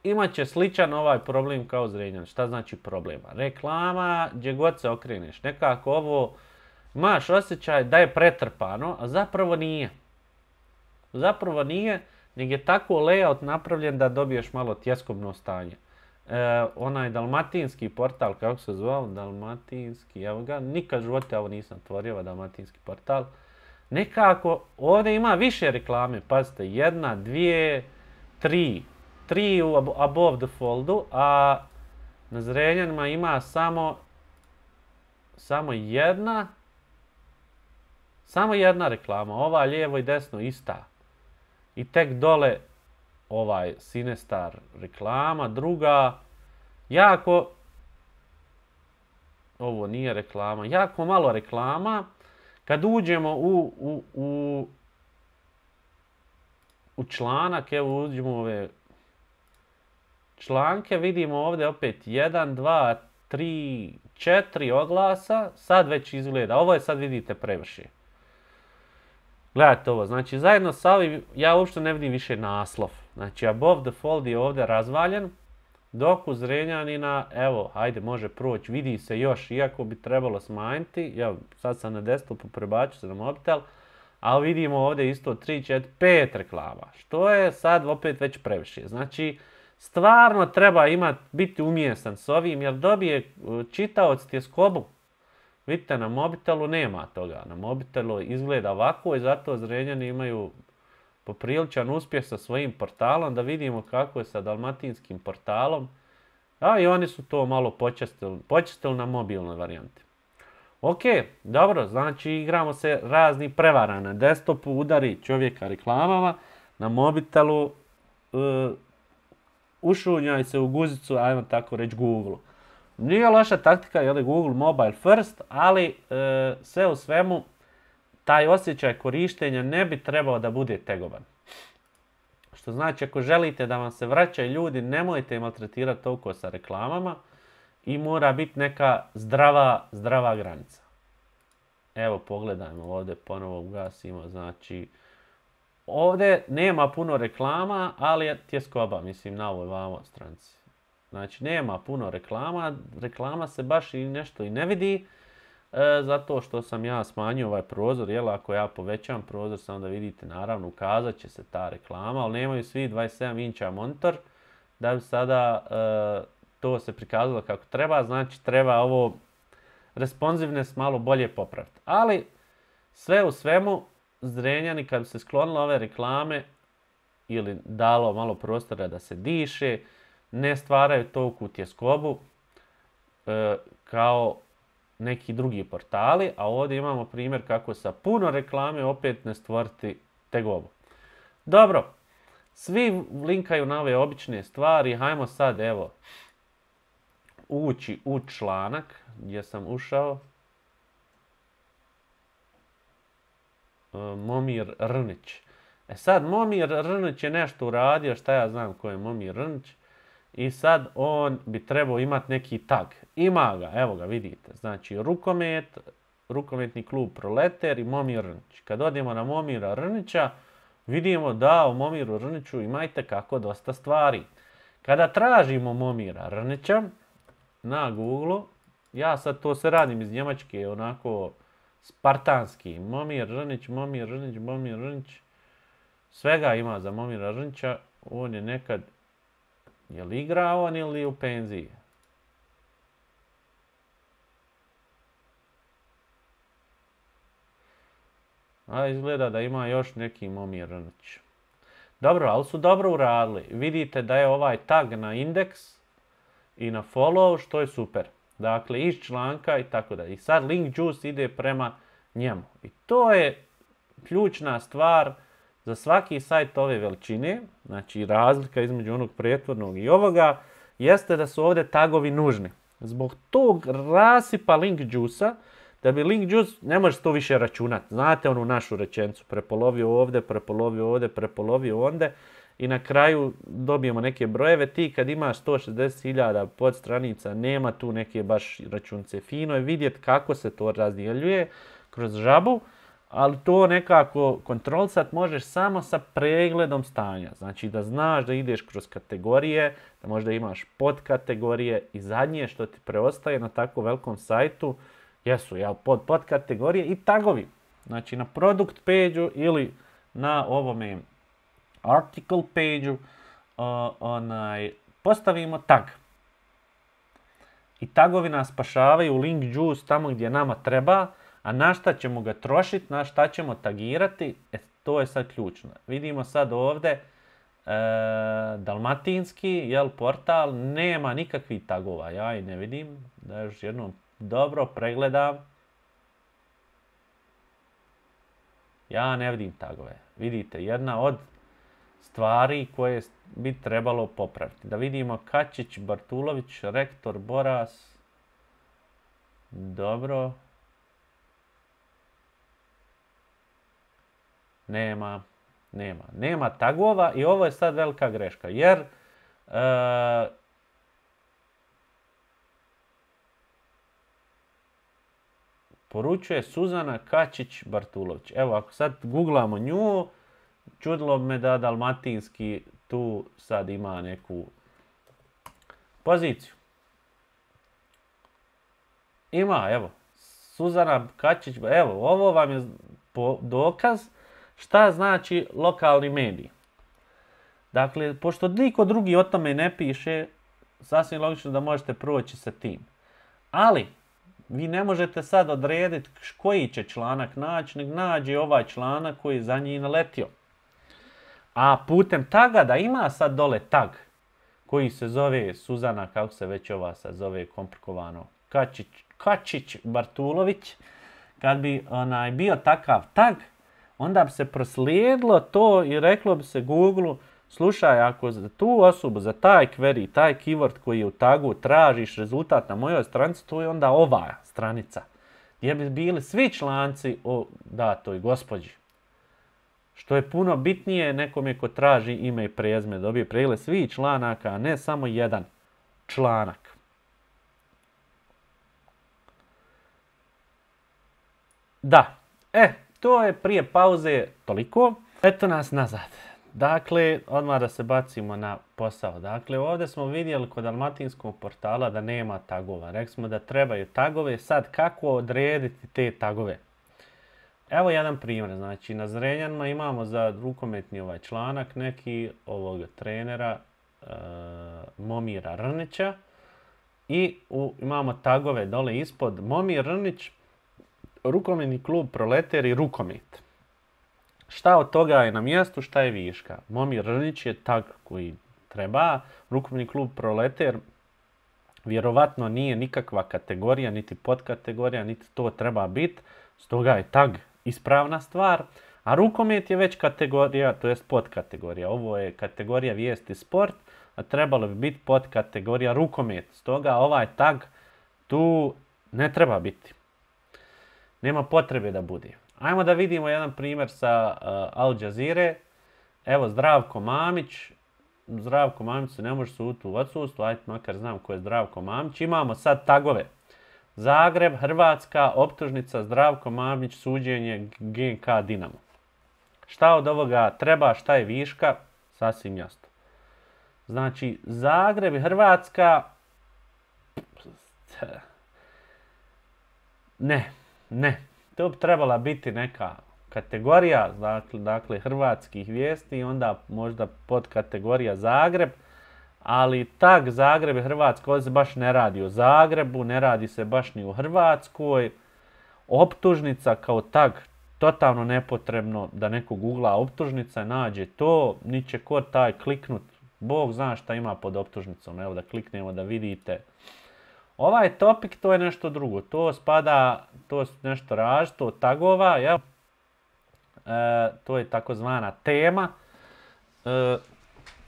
imat će sličan ovaj problem kao Zrenjanin. Šta znači problema? Reklama, gdje god se okreneš. Nekako ovo, imaš osjećaj da je pretrpano, a zapravo nije. Zapravo nije, nego je tako layout napravljen da dobiješ malo tjeskobno stanje. E, onaj dalmatinski portal, kako se zvao, dalmatinski, evo ga, nikad živote ovo nisam otvorio, dalmatinski portal. Nekako, ovdje ima više reklame, pazite, jedna, dvije, tri, tri u above the foldu, a na Zrenjanima ima samo, samo jedna, samo jedna reklama, ova lijevo i desno ista. I tek dole ovaj Sinestar reklama, druga, jako, ovo nije reklama, jako malo reklama. Kad uđemo u, u, u, u članak, evo uđemo u ove članke, vidimo ovdje opet jedan, dva, tri, četiri oglasa, sad već izgleda, ovo je sad vidite prevršije. Gledajte ovo, znači zajedno sa ovim, ja uopšte ne vidim više naslov. Znači above the fold je ovdje razvaljen, dok u Zrenjanina, evo, hajde, može proći, vidi se još, iako bi trebalo smanjiti, ja sad sam na desktopu, prebaču se na mobitel, ali vidimo ovdje isto tri, četiri, pet reklama, što je sad opet već previše. Znači, stvarno treba imati, biti umjesan s ovim, jer dobije čitaoc tjeskobu. Vidite, na mobitelu nema toga. Na mobitelu izgleda ovako i zato Zrenjani imaju popriličan uspjeh sa svojim portalom, da vidimo kako je sa dalmatinskim portalom. A i oni su to malo počestili, počestili na mobilnoj varijanti. Ok, dobro, znači igramo se razni prevara. Na desktopu udari čovjeka reklamama, na mobitelu uh, ušunjaj se u guzicu, ajmo tako reći, Google. Nije loša taktika, je li Google Mobile First, ali e, sve u svemu taj osjećaj korištenja ne bi trebao da bude tegoban. Što znači, ako želite da vam se vraćaju ljudi, nemojte ih maltretirati toliko sa reklamama i mora biti neka zdrava, zdrava granica. Evo, pogledajmo ovdje, ponovo ugasimo, znači ovdje nema puno reklama, ali je tjeskoba, mislim, na ovoj vamo stranici. Znači, nema puno reklama, reklama se baš i nešto i ne vidi, e, zato što sam ja smanjio ovaj prozor, jel, ako ja povećam prozor, samo da vidite, naravno, ukazat će se ta reklama, ali nemaju svi dvadeset sedam inča monitor, da bi sada e, to se prikazalo kako treba, znači treba ovo responsiveness malo bolje popraviti. Ali, sve u svemu, Zrenjani, kad bi se sklonilo ove reklame, ili dalo malo prostora da se diše, ne stvaraju toliku tjeskobu e, kao neki drugi portali, a ovdje imamo primjer kako sa puno reklame opet ne stvoriti tegobu. Dobro, svi linkaju na ove obične stvari, hajmo sad evo ući u članak gdje sam ušao. E, Momir Rnić. E sad, Momir Rnić je nešto uradio, šta ja znam ko je Momir Rnić. I sad on bi trebao imati neki tag. Ima ga, evo ga, vidite. Znači, rukomet, rukometni klub Proleter i Momir Rnić. Kad odemo na Momira Rnića, vidimo da u Momiru Rniću imajte kako dosta stvari. Kada tražimo Momira Rnića na Google, ja sad to sve radim iz Njemačke, onako spartanski. Momir Rnić, Momir Rnić, Momir Rnić. Svega ima za Momira Rnića. On je nekad, je li igrao on ili u penziji? A izgleda da ima još neki Momir Rnić. Dobro, ali su dobro uradili. Vidite da je ovaj tag na indeks i na follow, što je super. Dakle, iz članka i tako da. I sad link juice ide prema njemu. I to je ključna stvar za svaki sajt ove veličine. Znači, razlika između onog prethodnog i ovoga jeste da su ovdje tagovi nužni. Zbog tog rasipa link juice-a, da bi link juice, ne može to više računati. Znate onu našu rečenicu, prepolovio ovdje, prepolovio ovdje, prepolovio ondje i na kraju dobijemo neke brojeve. Ti kad imaš sto šezdeset hiljada podstranica, nema tu neke baš računice. Fino je vidjeti kako se to razdjeljuje kroz žabu, ali to nekako kontrolisat možeš samo sa pregledom stanja. Znači da znaš da ideš kroz kategorije, da možda imaš podkategorije i zadnje što ti preostaje na tako velikom sajtu jesu jel, pod podkategorije i tagovi. Znači na product page-u ili na ovome article page-u uh, onaj, postavimo tag. I tagovi nas spašavaju link juice tamo gdje nama treba, a na šta ćemo ga trošiti, na šta ćemo tagirati, e, to je sad ključno. Vidimo sad ovdje e, dalmatinski jel, portal, nema nikakvih tagova, ja i ne vidim, da još jednom dobro pregledam. Ja ne vidim tagove. Vidite, jedna od stvari koje bi trebalo popraviti. Da vidimo Kačić, Bartulović, rektor, Boras. Dobro. Nema, nema, nema tagova i ovo je sad velika greška, jer e, poručuje Suzana Kačić-Bartulović. Evo, ako sad googlamo nju, čudilo bi me da dalmatinski tu sad ima neku poziciju. Ima, evo, Suzana Kačić, evo, ovo vam je dokaz šta znači lokalni medij. Dakle, pošto niko drugi o tome ne piše, sasvim logično da možete proći sa tim. Ali, vi ne možete sad odrediti koji će članak naći, nek nađe ovaj članak koji je za njih naletio. A putem taga, da ima sad dole tag, koji se zove Suzana, kako se već ova sad zove komplikovano, Kačić, Kačić Bartulović, kad bi onaj bio takav tag, onda bi se proslijedilo to i reklo bi se Google-u, slušaj, ako za tu osobu, za taj query, taj keyword koji je u tagu tražiš rezultat na mojoj stranici, to je onda ova stranica, gdje bi bili svi članci o datoj gospođi. Što je puno bitnije nekome ko traži ime i prezime, dobije pregled svih članaka, a ne samo jedan članak. Da, e, to je prije pauze toliko. Eto nas nazad. Dakle, odmah da se bacimo na posao. Dakle, ovdje smo vidjeli kod dalmatinskog portala da nema tagova. Rekli smo da trebaju tagove. Sad, kako odrediti te tagove? Evo jedan primjer. Znači, na Zrenjanima imamo za rukometni ovaj članak neki ovog trenera e, Momira Rnića. I u, imamo tagove dole ispod Momir Rnić, rukometni klub Proleter i rukomet. Šta od toga je na mjestu, šta je viška? Momir Rnić je tag koji treba. Rukometni klub Proleter vjerovatno nije nikakva kategorija, niti podkategorija, niti to treba biti. Stoga je tag ispravna stvar. A rukomet je već kategorija, to jest podkategorija. Ovo je kategorija vijesti sport, a trebalo bi biti podkategorija rukomet. Stoga ovaj tag tu ne treba biti. Nema potrebe da bude. Ajmo da vidimo jedan primjer sa uh, Al Jazeere. Evo Zdravko Mamić. Zdravko Mamić se ne može suditi u odsustvu. Ajde makar znam ko je Zdravko Mamić. Imamo sad tagove. Zagreb, Hrvatska, optužnica Zdravko Mamić, suđenje G N K Dinamo. Šta od ovoga treba, šta je viška? Sasvim jasno. Znači, Zagreb i Hrvatska... Ne, ne. To bi trebala biti neka kategorija, dakle, dakle hrvatskih vijesti i onda možda podkategorija Zagreb, ali tag Zagreb i Hrvatska, ovdje se baš ne radi o Zagrebu, ne radi se baš ni u Hrvatskoj. Optužnica kao tag, totalno nepotrebno da neko googla optužnica, nađe to, ni će ko taj kliknut, Bog zna šta ima pod optužnicom, evo da kliknemo da vidite. Ovaj topik to je nešto drugo, to spada, to je nešto različito od tagova, jel? E, to je takozvana tema. E,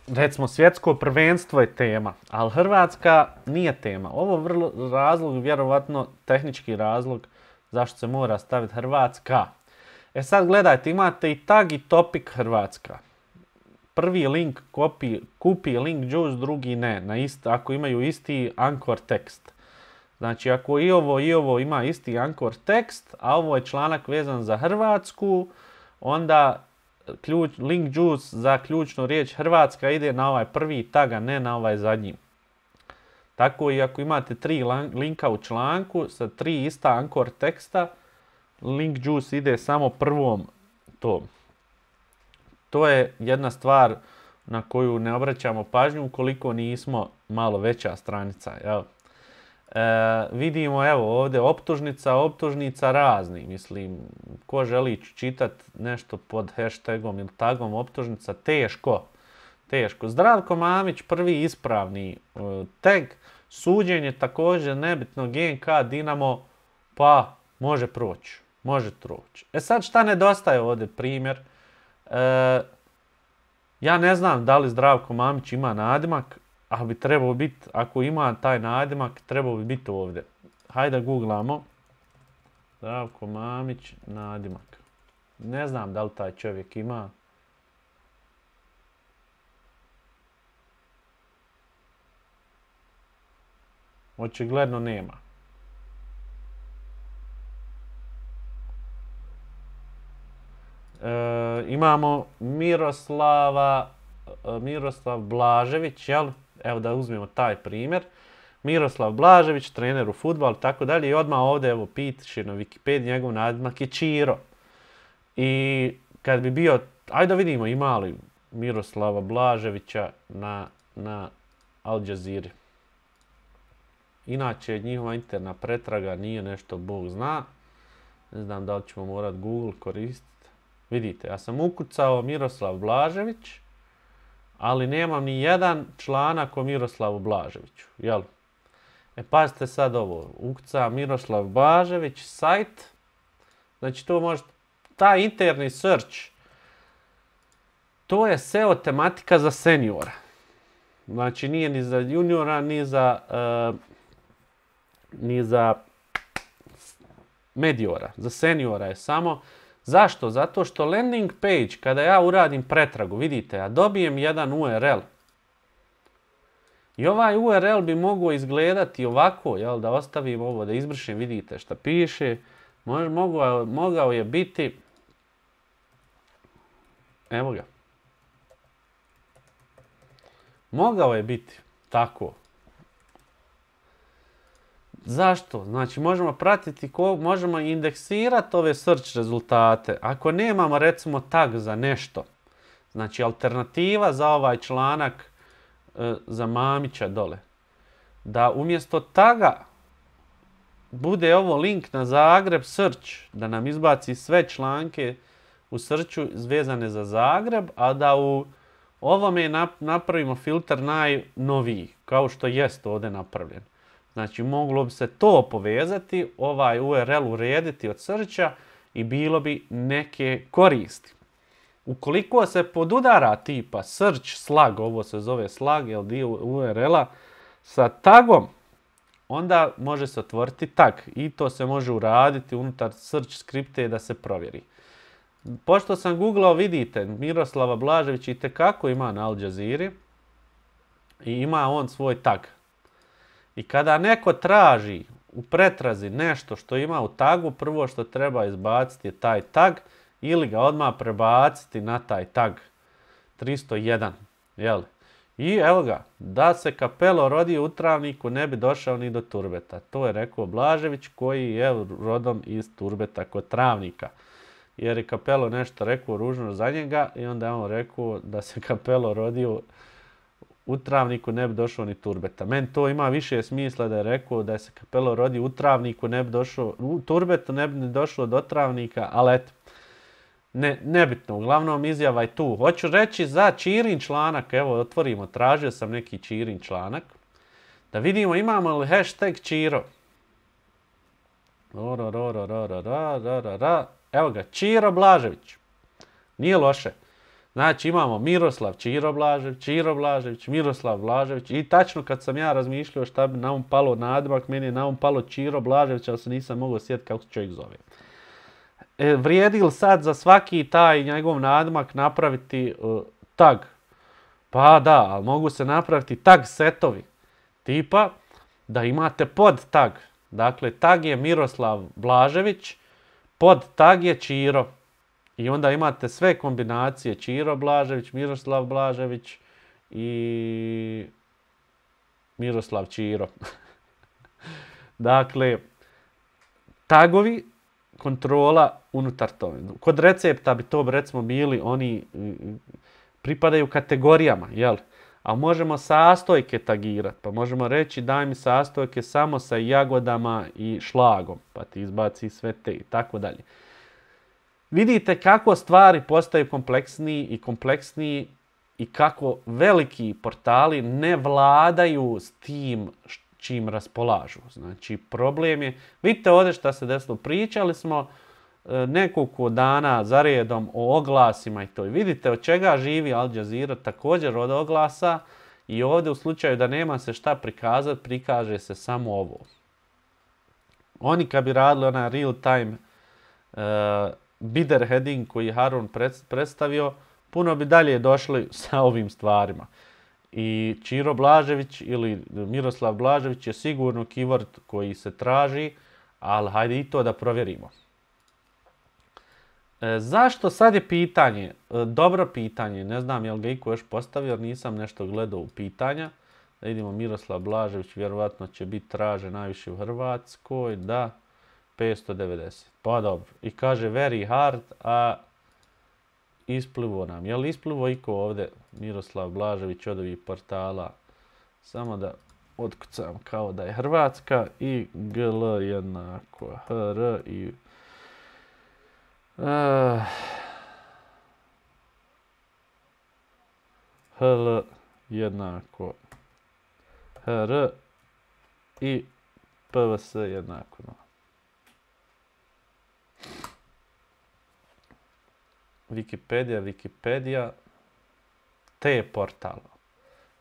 recimo svjetsko prvenstvo je tema, ali Hrvatska nije tema. Ovo je vrlo razlog, vjerovatno tehnički razlog zašto se mora staviti Hrvatska. E sad gledajte, imate i tag i topik Hrvatska. Prvi link kopi, kupi link juice, drugi ne, na isti, ako imaju isti anchor tekst. Znači, ako i ovo i ovo ima isti anchor tekst, a ovo je članak vezan za Hrvatsku, onda ključ, link juice za ključnu riječ Hrvatska ide na ovaj prvi tag, a ne na ovaj zadnji. Tako i ako imate tri linka u članku sa tri ista anchor teksta, link juice ide samo prvom tom. To je jedna stvar na koju ne obraćamo pažnju ukoliko nismo malo veća stranica. Jel? E, vidimo evo ovdje optužnica, optužnica razni. Mislim, ko želi čitati nešto pod hashtagom ili tagom optužnica, teško. Teško. Zdravko Mamić, prvi ispravni uh, tag. Suđenje također nebitno G N K Dinamo, pa može proći. Može proći. E sad šta nedostaje ovdje primjer? E, ja ne znam da li Zdravko Mamić ima nadimak, ali bi trebao biti, ako ima taj nadimak, trebao bi biti ovdje. Hajde da googlamo. Zdravko Mamić, nadimak. Ne znam da li taj čovjek ima. Očigledno nema. E, imamo Miroslava, Miroslav Blažević, jel? Evo da uzmemo taj primjer. Miroslav Blažević, trener u fudbalu, tako dalje. I odmah ovdje, evo, piše na Wikipediji, njegov nadimak je Čiro. I kad bi bio, ajde da vidimo ima li Miroslava Blaževića na, na Al Jazeera. Inače, njihova interna pretraga nije nešto Bog zna. Ne znam da li ćemo morat Google koristiti. Vidite, ja sam ukucao Miroslav Blažević, ali nemam ni jedan članak o Miroslavu Blaževiću. Jel? E, pazite sad ovo. Ukucam Miroslav Blažević, sajt. Znači, to može, taj interni search, to je S E O tematika za seniora. Znači, nije ni za juniora, ni za, uh, ni za mediora. Za seniora je samo. Zašto? Zato što landing page, kada ja uradim pretragu, vidite, ja dobijem jedan U R L. I ovaj U R L bi mogao izgledati ovako, jel, da ostavim ovo, da izbrišem, vidite šta piše. Mogao, mogao je biti, evo ga, mogao je biti tako. Zašto? Znači, možemo pratiti, ko, možemo indeksirati ove search rezultate. Ako nemamo, recimo, tag za nešto, znači, alternativa za ovaj članak e, za Mamića dole, da umjesto taga bude ovo link na Zagreb search, da nam izbaci sve članke u searchu vezane za Zagreb, a da u ovome napravimo filter najnoviji, kao što jest ovdje napravljen. Znači, moglo bi se to povezati, ovaj U R L urediti od searcha i bilo bi neke koristi. Ukoliko se podudara tipa search slug, ovo se zove slug, je dio U R L-a, sa tagom, onda može se otvoriti tag i to se može uraditi unutar search skripte da se provjeri. Pošto sam googlao, vidite, Miroslava Blaževića itekako ima na Al Jazeera i ima on svoj tag. I kada neko traži u pretrazi nešto što ima u tagu, prvo što treba izbaciti je taj tag ili ga odmah prebaciti na taj tag tristo jedan. Jel? I evo ga, da se Capello rodio u Travniku ne bi došao ni do Turbeta. To je rekao Blažević koji je rodom iz Turbeta kod Travnika. Jer je Capello nešto rekao ružno za njega i onda je on rekao da se Capello rodio u Travniku ne bi došao ni Turbeta. Meni to ima više smisla da je rekao da se Capello rodio u Travniku ne bi došao, u Turbetu ne bi ni došlo do Travnika, ali eto. Ne, nebitno, uglavnom izjava je tu. Hoću reći za Čirin članak, evo otvorimo, tražio sam neki Čirin članak, da vidimo imamo li hashtag Čiro. Ro, ro, ro, ro, ro, ro, ro, ro, ro. Evo ga, Čiro Blažević. Nije loše. Znači imamo Miroslav Čiro Blažević, Čiro Blažević, Miroslav Blažević i tačno kad sam ja razmišljao šta bi na um palo nadimak, meni je na um palo Čiro Blažević, ali se nisam mogao sjetiti kako se čovjek zove. E, vrijedi li sad za svaki taj njegov nadimak napraviti uh, tag? Pa da, ali mogu se napraviti tag setovi. Tipa da imate pod tag. Dakle, tag je Miroslav Blažević, pod tag je Čiro. I onda imate sve kombinacije Čiro Blažević, Miroslav Blažević i Miroslav Čiro. Dakle, tagovi, kontrola unutar toga. Kod recepta bi to recimo bili, oni pripadaju kategorijama, jel? A možemo sastojke tagirati, pa možemo reći daj mi sastojke samo sa jagodama i šlagom, pa ti izbaci sve te i tako dalje. Vidite kako stvari postaju kompleksniji i kompleksniji i kako veliki portali ne vladaju s tim čim raspolažu. Znači, problem je, vidite ovdje šta se desilo, pričali smo e, nekoliko dana za redom o oglasima i to. I vidite od čega živi Al Jazeera, također od oglasa i ovdje u slučaju da nema se šta prikazati, prikaže se samo ovo. Oni kad bi radili onaj real time e, bidder heading koji je Harun predstavio, puno bi dalje došli sa ovim stvarima. I Čiro Blažević ili Miroslav Blažević je sigurno keyword koji se traži, ali hajde i to da provjerimo. E, zašto sad je pitanje, e, dobro pitanje, ne znam je li ga iko još postavio, jer nisam nešto gledao u pitanja. Da vidimo, Miroslav Blažević vjerovatno će biti tražen najviše u Hrvatskoj, da, petsto devedeset. Pa dobro. I kaže very hard, a isplivo nam. Je li isplivo iko ovdje Miroslav Blažević od ovih portala? Samo da otkucam kao da je Hrvatska i G L jednako H R i uh, H L jednako H R i P V S jednako no. Wikipedia, Wikipedia, T portal.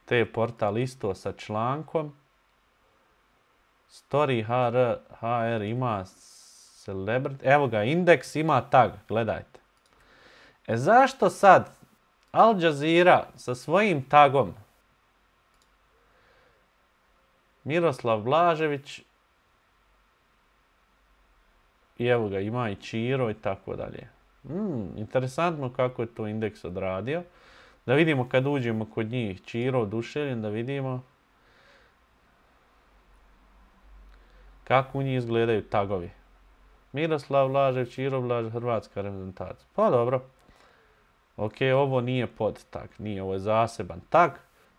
T portal isto sa člankom. Story H R, H R ima celebrity. Evo ga, indeks ima tag, gledajte. E zašto sad Al Jazeera sa svojim tagom Miroslav Blažević i evo ga, ima i Čiro i tako dalje. Hmm, interesantno kako je to indeks odradio. Da vidimo kad uđemo kod njih Čiro, Oduševljen, da vidimo kako u njih izgledaju tagovi. Miroslav Blažević, Čiro Blažević, hrvatska reprezentacija. Pa dobro. Ok, ovo nije pod tag, nije, ovo je zaseban tag.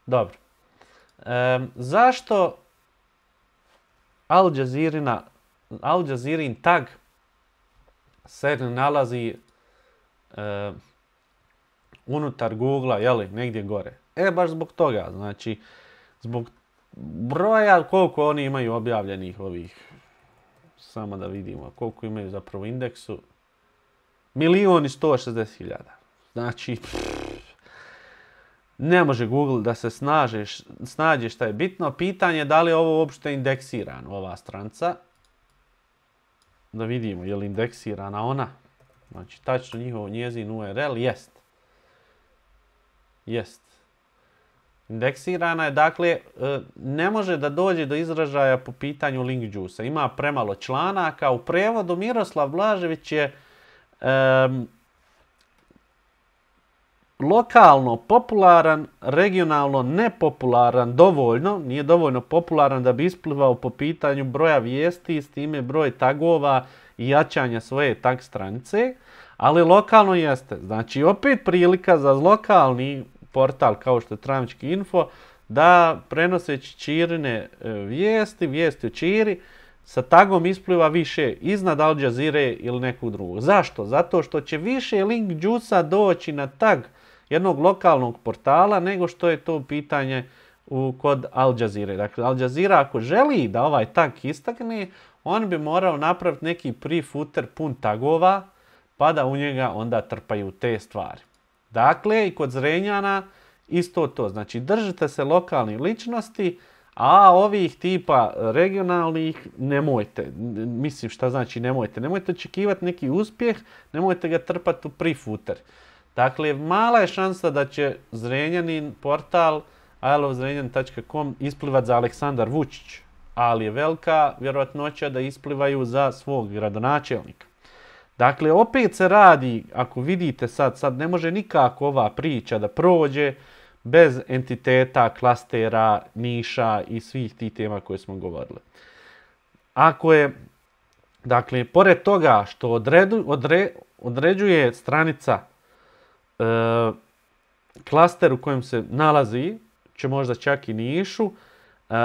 Dobro. E, zašto Al Jazeera, Al Jazeerin tag se ne nalazi e, unutar Google-a, jeli, negdje gore? E, baš zbog toga, znači, zbog broja koliko oni imaju objavljenih ovih, samo da vidimo koliko imaju zapravo indeksu, milion i sto šezdeset hiljada. Znači, ne može Google da se snaže, snađe šta je bitno. Pitanje je da li je ovo uopšte indeksirano, ova stranca. Da vidimo, je li indeksirana ona. Znači, tačno njihov njezin U R L, jest. Jest. Indeksirana je, dakle, ne može da dođe do izražaja po pitanju link juice-a. Ima premalo članaka. U prevodu Miroslav Blažević je um, lokalno popularan, regionalno nepopularan dovoljno, nije dovoljno popularan da bi isplivao po pitanju broja vijesti, s time broj tagova i jačanja svoje tag stranice, ali lokalno jeste. Znači, opet prilika za lokalni portal kao što je Travnički info da prenoseći Čirine vijesti, vijesti o Čiri, sa tagom ispliva više iznad Al Jazeere ili nekog drugog. Zašto? Zato što će više link juice-a doći na tag jednog lokalnog portala nego što je to pitanje u, kod Al Jazeera. Dakle, Al Jazeera ako želi da ovaj tag istakne, on bi morao napraviti neki pre-footer pun tagova, pa da u njega onda trpaju te stvari. Dakle, i kod Zrenjana isto to. Znači, držite se lokalnih ličnosti, a ovih tipa regionalnih nemojte. Mislim, šta znači nemojte? Nemojte očekivati neki uspjeh, nemojte ga trpati u pre-footer. Dakle, mala je šansa da će Zrenjanin portal i love zrenjanin tačka com isplivat za Aleksandar Vučić, ali je velika vjerojatnoća da isplivaju za svog gradonačelnika. Dakle, opet se radi, ako vidite sad, sad ne može nikako ova priča da prođe bez entiteta, klastera, niša i svih tih tema koje smo govorili. Ako je, dakle, pored toga što odredu, odre, određuje stranica e, klaster u kojem se nalazi, će možda čak i nišu, e,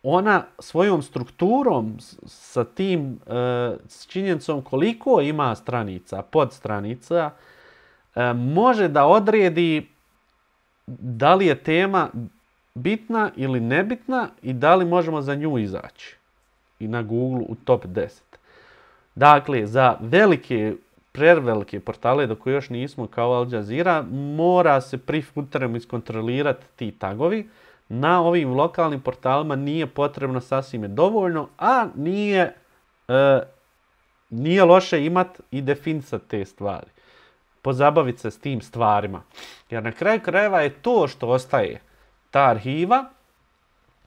ona svojom strukturom sa tim e, s činjenicom koliko ima stranica, podstranica, e, može da odredi da li je tema bitna ili nebitna i da li možemo za nju izaći i na Google u top deset. Dakle, za velike, prevelike portale do koje još nismo kao Al Jazeera, mora se pre-footerom iskontrolirati ti tagovi. Na ovim lokalnim portalima nije potrebno, sasvim je dovoljno, a nije, e, nije loše imati i definisati te stvari. Pozabaviti se s tim stvarima. Jer na kraju krajeva je to što ostaje ta arhiva.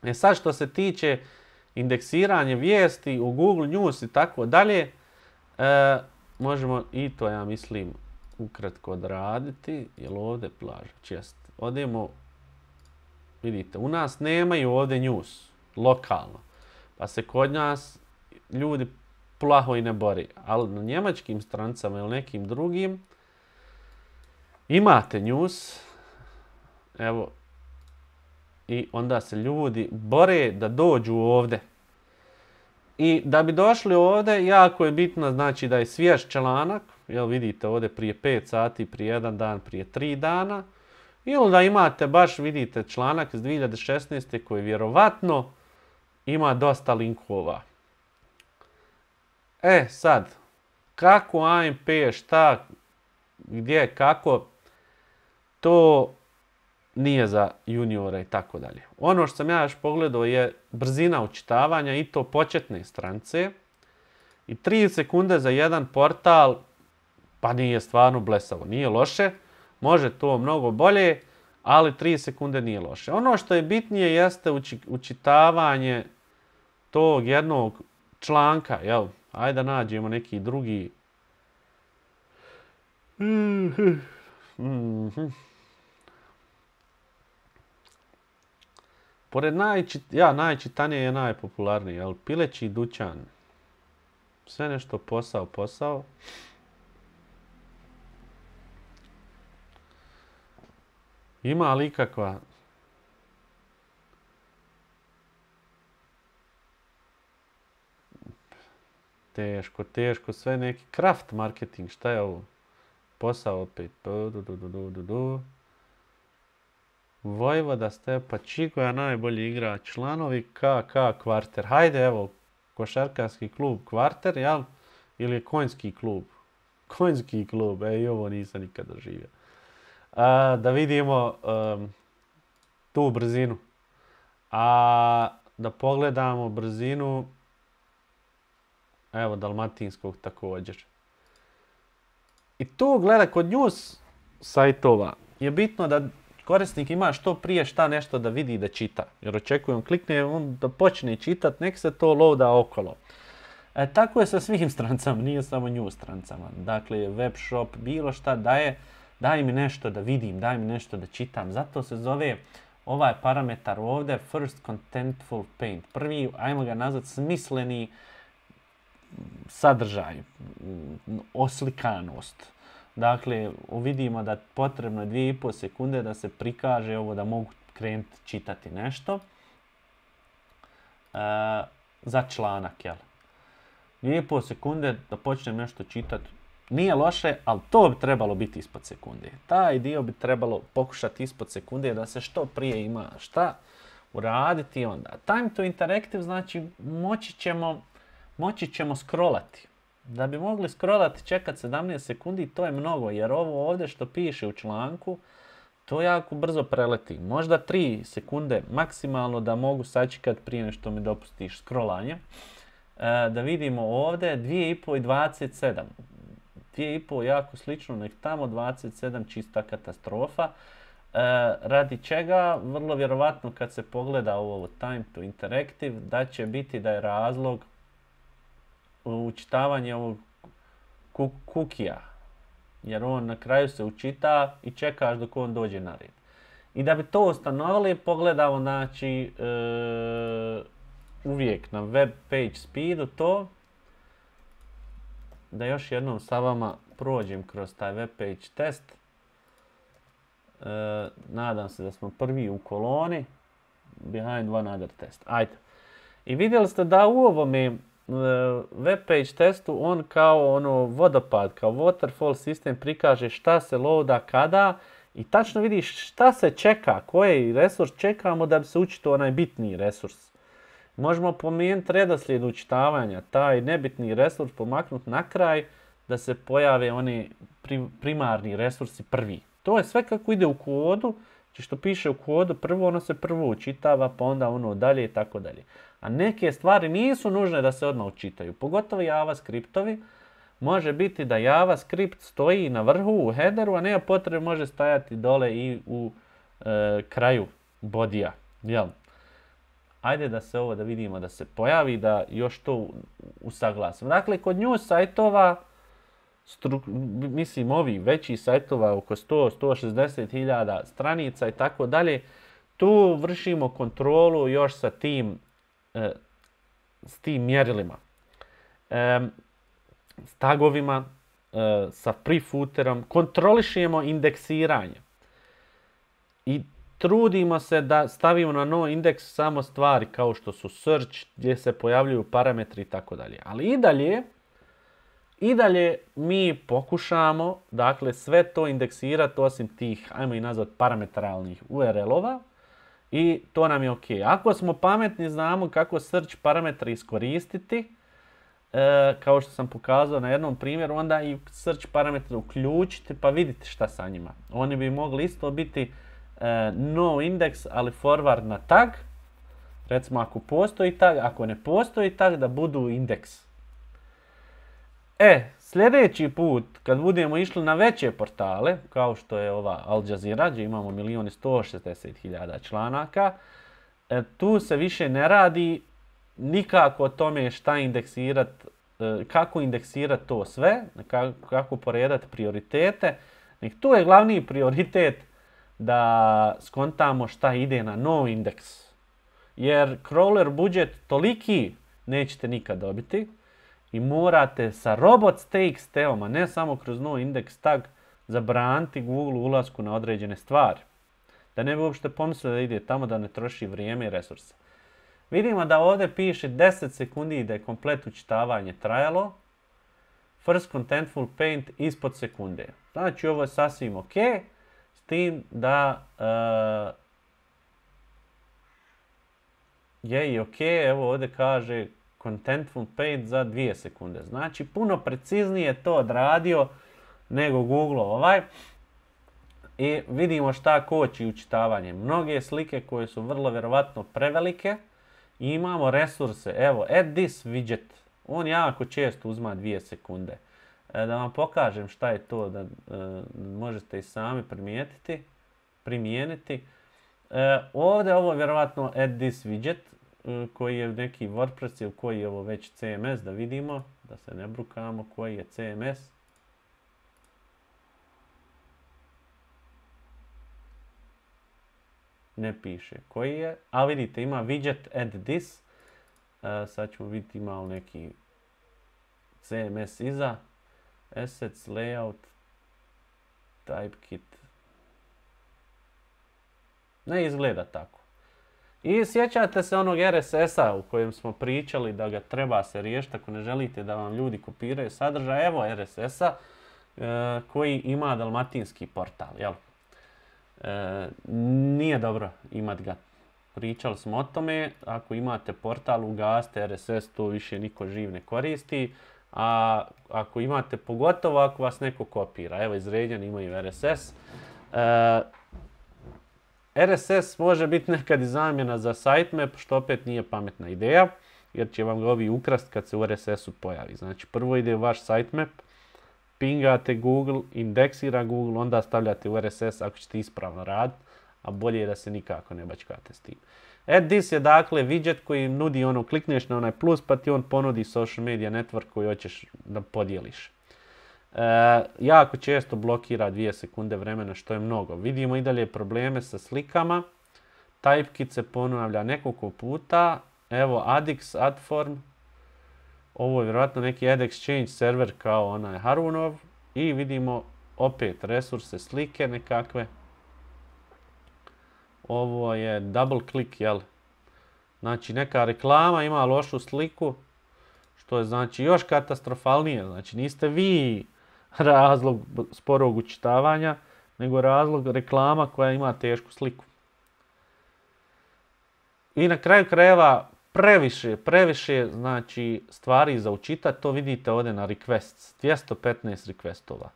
E sad što se tiče indeksiranja vijesti u Google News i tako dalje, e, možemo i to, ja mislim, ukratko odraditi. Jel ovdje Blažević? Jest. Odemo. Vidite, u nas nemaju ovdje news, lokalno. Pa se kod nas ljudi plaho i ne bori. Ali na njemačkim strancama ili nekim drugim imate news, evo, i onda se ljudi bore da dođu ovdje. I da bi došli ovdje, jako je bitno znači da je svjež članak, jel vidite ovdje prije pet sati, prije jedan dan, prije tri dana, ili da imate baš, vidite, članak iz dvije hiljade šesnaeste koji vjerovatno ima dosta linkova. E sad, kako A M P, šta, gdje, kako, to nije za juniora i tako dalje. Ono što sam ja još pogledao je brzina učitavanja i to početne strance. I tri sekunde za jedan portal, pa nije stvarno blesavo, nije loše. Može to mnogo bolje, ali tri sekunde nije loše. Ono što je bitnije jeste uči, učitavanje tog jednog članka, jel? Ajde da nađemo neki drugi. Mm-hmm. Pored najčit, ja, najčitanije je najpopularniji, jel? Pileći dućan. Sve nešto posao, posao. Ima li ikakva... Teško, teško, sve neki craft marketing, šta je ovo? Posao opet. Du, du, du, du, du, du. Vojvoda Stepa Čigoja, najbolji igrač, članovi K K Kvarter. Hajde, evo, košarkarski klub Kvarter, jel? Ili je konjski klub? Konjski klub, e, i ovo nisam nikad doživio. A, da vidimo um, tu brzinu. A da pogledamo brzinu, evo, dalmatinskog također. I tu, gleda, kod news sajtova je bitno da korisnik ima što prije šta nešto da vidi da čita. Jer očekujem, klikne on da počne čitat, nek se to loada okolo. E, tako je sa svim strancama, nije samo news strancama. Dakle, web shop, bilo šta daje, daj mi nešto da vidim, daj mi nešto da čitam. Zato se zove ovaj parametar ovdje First Contentful Paint. Prvi, ajmo ga nazvati, smisleni sadržaj, oslikanost. Dakle, vidimo da potrebno je dvije i pol sekunde da se prikaže ovo da mogu krenuti čitati nešto. E, za članak, jel? Dvije i pol sekunde da počnem nešto čitati. Nije loše, ali to bi trebalo biti ispod sekunde. Taj dio bi trebalo pokušati ispod sekunde da se što prije ima šta uraditi onda. Time to interactive znači moći ćemo, moći ćemo scrollati. Da bi mogli scrollati, čekati sedamnaest sekundi, to je mnogo, jer ovo ovdje što piše u članku, to jako brzo preleti. Možda tri sekunde maksimalno da mogu sačekati prije nešto mi dopustiš scrollanje. E, da vidimo ovdje dvije i pol i dvadeset sedam. dvije i pol jako slično, nek tamo dvadeset sedam čista katastrofa. E, radi čega, vrlo vjerovatno kad se pogleda ovo time to interactive, da će biti da je razlog učitavanje ovog kukija, jer on na kraju se učita i čekaš dok on dođe na red. I da bi to ustanovili, pogledamo, znači, e, uvijek na web page speedu to, da još jednom sa vama prođem kroz taj web page test. E, nadam se da smo prvi u koloni, behind one other test. Ajde. I vidjeli ste da u ovome web page testu on kao ono vodopad, kao waterfall sistem prikaže šta se loada kada i tačno vidiš šta se čeka, koji resurs čekamo da bi se učito onaj bitni resurs. Možemo pomijeniti redoslijed učitavanja, taj nebitni resurs pomaknuti na kraj da se pojave oni primarni resursi prvi. To je sve kako ide u kodu, znači što piše u kodu, prvo ono se prvo učitava, pa onda ono dalje i tako dalje. A neke stvari nisu nužne da se odmah učitaju, pogotovo JavaScriptovi. Može biti da JavaScript stoji na vrhu u headeru, a nema potrebe može stajati dole i u e, kraju bodija. Jel? Ajde da se ovo da vidimo da se pojavi, da još to usaglasimo. Dakle, kod news sajtova, mislim ovi veći sajtova oko sto do sto šezdeset hiljada stranica i tako dalje, tu vršimo kontrolu još sa tim, e, s tim mjerilima. e, s tagovima, e, sa prefooterom, kontrolišemo indeksiranje. I trudimo se da stavimo na no indeks samo stvari kao što su search, gdje se pojavljuju parametri i tako dalje. Ali i dalje, i dalje mi pokušamo, dakle, sve to indeksirati osim tih, ajmo i nazvat, parametralnih U R L-ova i to nam je ok. Ako smo pametni, znamo kako search parametre iskoristiti, e, kao što sam pokazao na jednom primjeru, onda i search parametre uključiti pa vidite šta sa njima. Oni bi mogli isto biti no index, ali forward na tag. Recimo ako postoji tag, ako ne postoji tag, da budu indeks. E, sljedeći put kad budemo išli na veće portale, kao što je ova Al Jazeera, gdje imamo milijun i sto šezdeset hiljada članaka, e, tu se više ne radi nikako o tome šta indeksirati, e, kako indeksirati to sve, kako, kako poredati prioritete. Nek tu je glavni prioritet da skontamo šta ide na no indeks. Jer crawler budžet toliki nećete nikad dobiti i morate sa robots.txt-om, a ne samo kroz no indeks tag, zabraniti Google ulasku na određene stvari. Da ne bi uopšte pomislili da ide tamo, da ne troši vrijeme i resurse. Vidimo da ovdje piše deset sekundi da je komplet učitavanje trajalo. First contentful paint ispod sekunde. Znači ovo je sasvim ok. S tim da uh, je i ok, evo ovdje kaže contentful paint za dvije sekunde. Znači puno preciznije to odradio nego Google ovaj. I vidimo šta koči učitavanje. Mnoge slike koje su vrlo vjerovatno prevelike. I imamo resurse. Evo, add this widget. On jako često uzma dvije sekunde. E, da vam pokažem šta je to, da e, možete i sami primijetiti, primijeniti. E, ovdje ovo je vjerovatno add this widget, e, koji je neki WordPress ili koji je ovo već C M S, da vidimo, da se ne brukamo koji je C M S. Ne piše koji je, a vidite ima widget add this. E, sad ćemo vidjeti ima li neki C M S iza. Assets, layout, typekit. Ne izgleda tako. I sjećate se onog R S S-a u kojem smo pričali da ga treba se riješiti ako ne želite da vam ljudi kopiraju sadržaj. Evo R S S-a e, koji ima dalmatinski portal. Jel? E, nije dobro imat ga. Pričali smo o tome. Ako imate portal, ugasite R S S, to više niko živ ne koristi. A ako imate, pogotovo ako vas neko kopira, evo izređeni imaju R S S. E, R S S može biti nekad i zamjena za sitemap, što opet nije pametna ideja, jer će vam ga ovi ukrast kad se u R S S-u pojavi. Znači prvo ide u vaš sitemap, pingate Google, indeksira Google, onda stavljate u R S S ako ćete ispravno raditi, a bolje je da se nikako ne bačkate s tim. Add this je dakle widget koji nudi ono, klikneš na onaj plus pa ti on ponudi social media network koji hoćeš da podijeliš. E, jako često blokira dvije sekunde vremena što je mnogo. Vidimo i dalje probleme sa slikama. Typekit se ponavlja nekoliko puta. Evo Addix, Adform. Ovo je vjerojatno neki Ad Exchange server kao onaj Harunov. I vidimo opet resurse slike nekakve. Ovo je double click, jel? Znači neka reklama ima lošu sliku, što je znači još katastrofalnije. Znači niste vi razlog sporog učitavanja, nego razlog reklama koja ima tešku sliku. I na kraju krajeva previše, previše znači stvari za učitati, to vidite ovdje na requests, dvjesto petnaest requestova.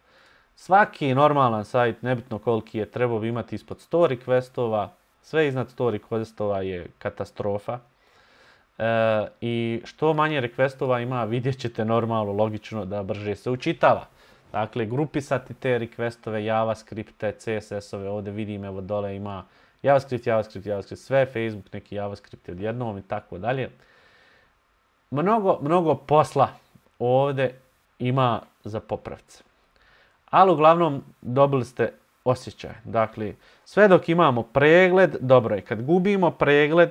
Svaki normalan sajt, nebitno koliki je, trebao bi imati ispod sto requestova. Sve iznad sto requestova je katastrofa. E, I što manje requestova ima, vidjet ćete normalno, logično da brže se učitava. Dakle, grupisati te requestove, JavaScripte, C S S-ove, ovdje vidim, evo dole ima JavaScript, JavaScript, JavaScript, sve Facebook, neki JavaScript odjednom i tako dalje. Mnogo, mnogo posla ovdje ima za popravce. Ali uglavnom dobili ste osjećaj. Dakle, sve dok imamo pregled, dobro je. Kad gubimo pregled,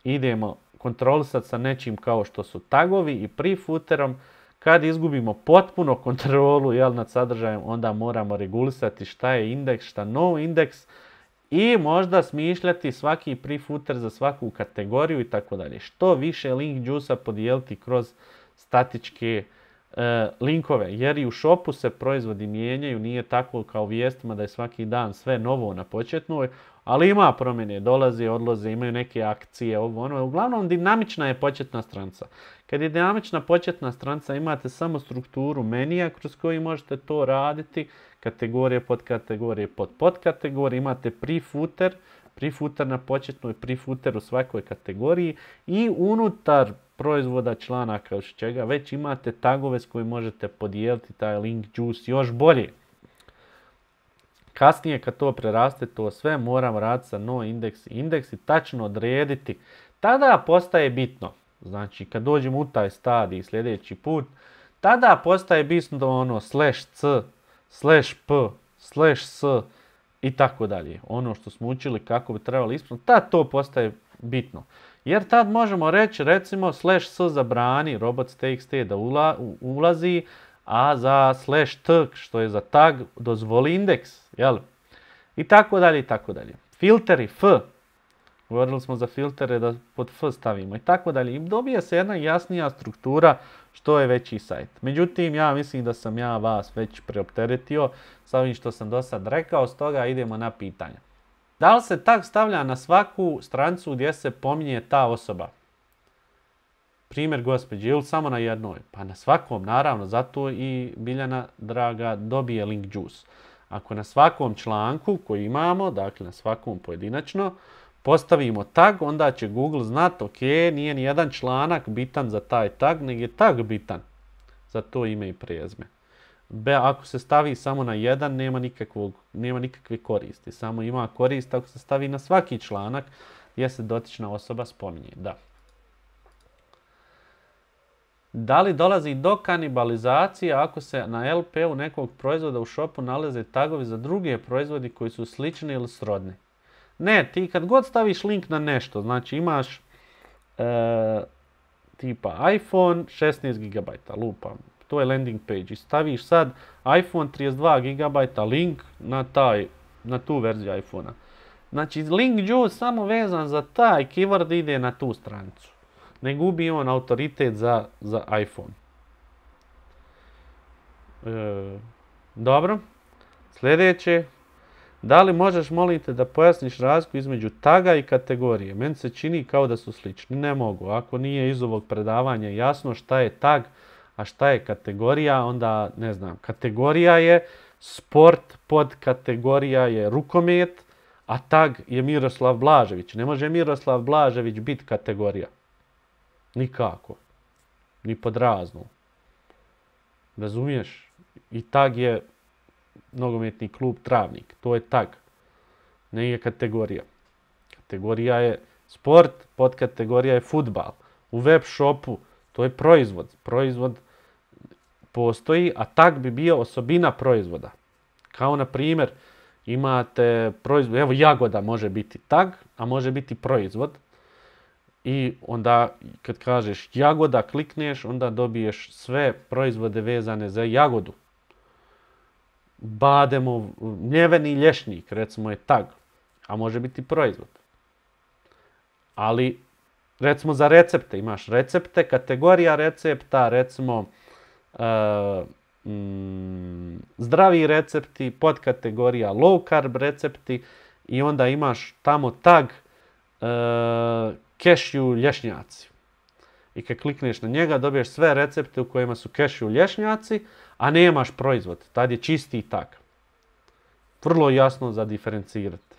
idemo kontrolisati sa nečim kao što su tagovi i prefooterom. Kad izgubimo potpuno kontrolu jel, nad sadržajem, onda moramo regulisati šta je indeks, šta no indeks i možda smišljati svaki prefooter za svaku kategoriju i tako dalje. Što više link juice-a podijeliti kroz statičke e, linkove, jer i u shopu se proizvodi mijenjaju, nije tako kao vijestima da je svaki dan sve novo na početnoj, ali ima promjene, dolaze, odlaze, imaju neke akcije, ovo ono. Uglavnom dinamična je početna stranica. Kad je dinamična početna stranica imate samo strukturu menija kroz koji možete to raditi, kategorije, podkategorije, pod podkategorije, imate prefooter, prefooter na početnoj, prefooter u svakoj kategoriji i unutar proizvoda članaka još čega već imate tagove s kojim možete podijeliti taj link juice još bolje. Kasnije kad to preraste, to sve moramo raditi sa no indeks i indeks i tačno odrediti. Tada postaje bitno. Znači kad dođemo u taj stadij sljedeći put, tada postaje bitno ono slash c, slash p, slash s i tako dalje. Ono što smo učili kako bi trebalo ispuniti, tad to postaje bitno. Jer tad možemo reći recimo slash s zabrani robots.txt da ula, ulazi, a za slash t što je za tag dozvoli indeks, jel? I tako dalje i tako dalje. Filteri f, govorili smo za filtere da pod f stavimo i tako dalje. I dobije se jedna jasnija struktura što je veći sajt. Međutim, ja mislim da sam ja vas već preopteretio sa ovim što sam do sad rekao, stoga idemo na pitanje. Da li se tag stavlja na svaku stranicu gdje se pominje ta osoba? Primjer gospođe, ili samo na jednoj? Pa na svakom, naravno, zato i Biljana draga dobije link juice. Ako na svakom članku koji imamo, dakle na svakom pojedinačno, postavimo tag, onda će Google znati, ok, nije ni jedan članak bitan za taj tag, nego je tag bitan za to ime i prezime. Be, ako se stavi samo na jedan, nema, nikakvog, nema nikakve koristi. Samo ima korist ako se stavi na svaki članak gdje se dotična osoba spominje. Da. Da li dolazi do kanibalizacije ako se na el pe u nekog proizvoda u shopu nalaze tagovi za druge proizvodi koji su slični ili srodni? Ne, ti kad god staviš link na nešto, znači imaš e, tipa iPhone šesnaest gigabajta, lupam, to je landing page i staviš sad iPhone trideset dva gigabajta link na, taj, na tu verziju iPhona. Znači link juice samo vezan za taj keyword ide na tu stranicu. Ne gubi on autoritet za, za iPhone. E, dobro. Sljedeće. Da li možeš, molim te, da pojasniš razliku između taga i kategorije? Meni se čini kao da su slični. Ne mogu. Ako nije iz ovog predavanja jasno šta je tag, a šta je kategorija, onda ne znam. Kategorija je sport, podkategorija je rukomet, a tag je Miroslav Blažević. Ne može Miroslav Blažević biti kategorija. Nikako. Ni pod raznom. Razumiješ? I tag je nogometni klub Travnik. To je tag. Ne je kategorija. Kategorija je sport, podkategorija je fudbal. U web shopu to je proizvod. Proizvod postoji, a tag bi bio osobina proizvoda. Kao na primjer, imate proizvod, evo jagoda može biti tag, a može biti proizvod. I onda kad kažeš jagoda, klikneš, onda dobiješ sve proizvode vezane za jagodu. Bademov, mljeveni lješnik, recimo je tag, a može biti proizvod. Ali, recimo za recepte, imaš recepte, kategorija recepta, recimo uh, mm, zdravi recepti, podkategorija low carb recepti i onda imaš tamo tag uh, kešju lješnjaci. I kad klikneš na njega dobiješ sve recepte u kojima su kešju lješnjaci, a nemaš proizvod. Tad je čisti tag. Vrlo jasno za diferencirati.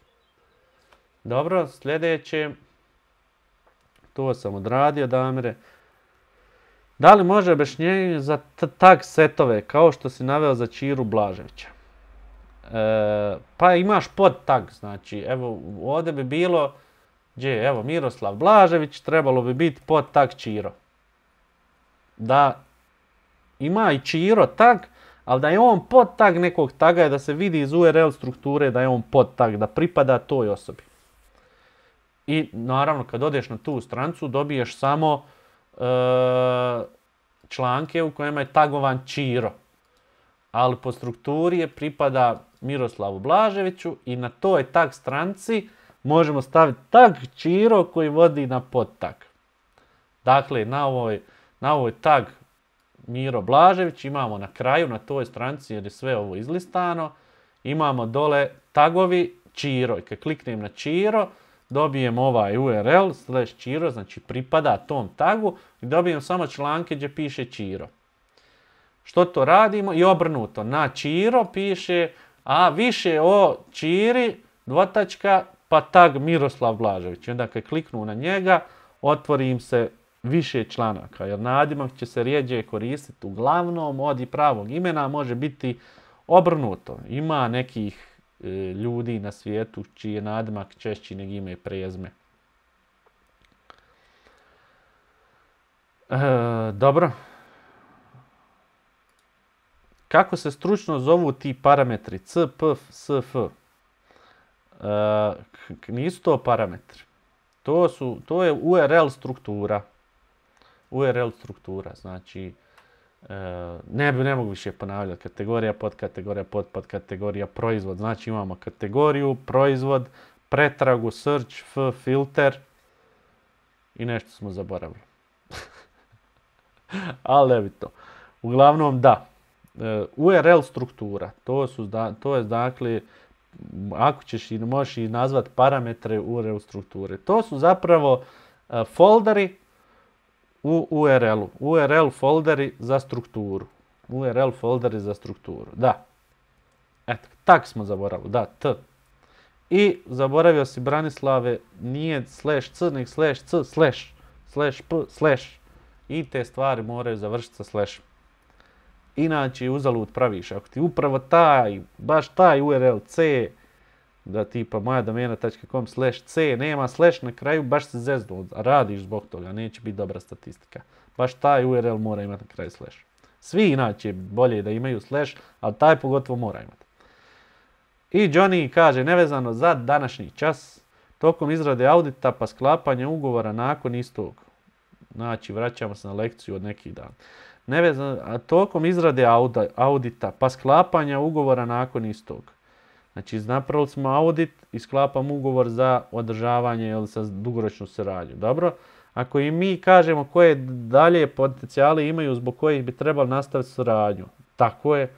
Dobro, sljedeće. To sam odradio, Damire. Da li može objašnjenje za tag setove, kao što si naveo za Čiru Blaževića? E, pa imaš pod tag, znači, evo, ovdje bi bilo, gdje, evo, Miroslav Blažević, trebalo bi biti pod tag Čiro. Da ima i Čiro tag, ali da je on pod tag nekog taga je da se vidi iz u er el strukture da je on pod tag, da pripada toj osobi. I naravno kad odeš na tu stranicu dobiješ samo e, članke u kojima je tagovan Ćiro. Ali po strukturi je pripada Miroslavu Blaževiću i na toj tag stranici možemo staviti tag Ćiro koji vodi na podtag. Dakle, na ovoj, na ovoj tag Miro Blažević imamo na kraju, na toj stranici jer je sve ovo izlistano, imamo dole tagovi Ćiro. I kad kliknem na Ćiro, dobijem ovaj U R L slash Ćiro, znači pripada tom tagu i dobijem samo članke gdje piše Ćiro. Što to radimo? I obrnuto. Na Ćiro piše, a više o Ćiri, dvotačka, pa tag Miroslav Blažević. I onda kad kliknu na njega, otvori im se više članaka, jer nadimak će se rijeđe koristiti uglavnom od i pravog imena, može biti obrnuto. Ima nekih e, ljudi na svijetu čiji je nadimak češći nego ime i prezime. E, dobro. Kako se stručno zovu ti parametri C, P, S, F? E, nisu to parametri. To, su, to je U R L struktura. U R L struktura, znači e, ne, ne mogu više ponavljati. Kategorija, podkategorija, pod, podkategorija, proizvod. Znači imamo kategoriju, proizvod, pretragu, search, F, filter i nešto smo zaboravili. Ali ne bi to. Uglavnom da. E, U R L struktura, to, su, to je dakle, ako ćeš i možeš i nazvati parametre U R L strukture. To su zapravo e, folderi u U R L-u. U R L folderi za strukturu. U R L folderi za strukturu. Da. Eto, tak smo zaboravili. Da, T. I zaboravio si Branislave, nije slash C, nego slash C, slash, slash P, slash. I te stvari moraju završiti sa slashom. Inače, uzalud praviš. Ako ti upravo taj, baš taj U R L C, da tipa moja domena.com slash C, nema slash na kraju, baš se zeznu, radiš zbog toga, neće biti dobra statistika. Baš taj U R L mora imati na kraju slash. Svi inače bolje da imaju slash, ali taj pogotovo mora imati. I Johnny kaže, nevezano za današnji čas, tokom izrade audita pa sklapanja ugovora nakon istog. Znači, vraćamo se na lekciju od nekih dana. Nevezano, a tokom izrade audita pa sklapanja ugovora nakon istog. Znači, napravili smo audit i sklapamo ugovor za održavanje ili sa dugoročnu saradnju. Dobro? Ako i mi kažemo koje dalje potencijale imaju zbog kojih bi trebali nastaviti saradnju, tako je,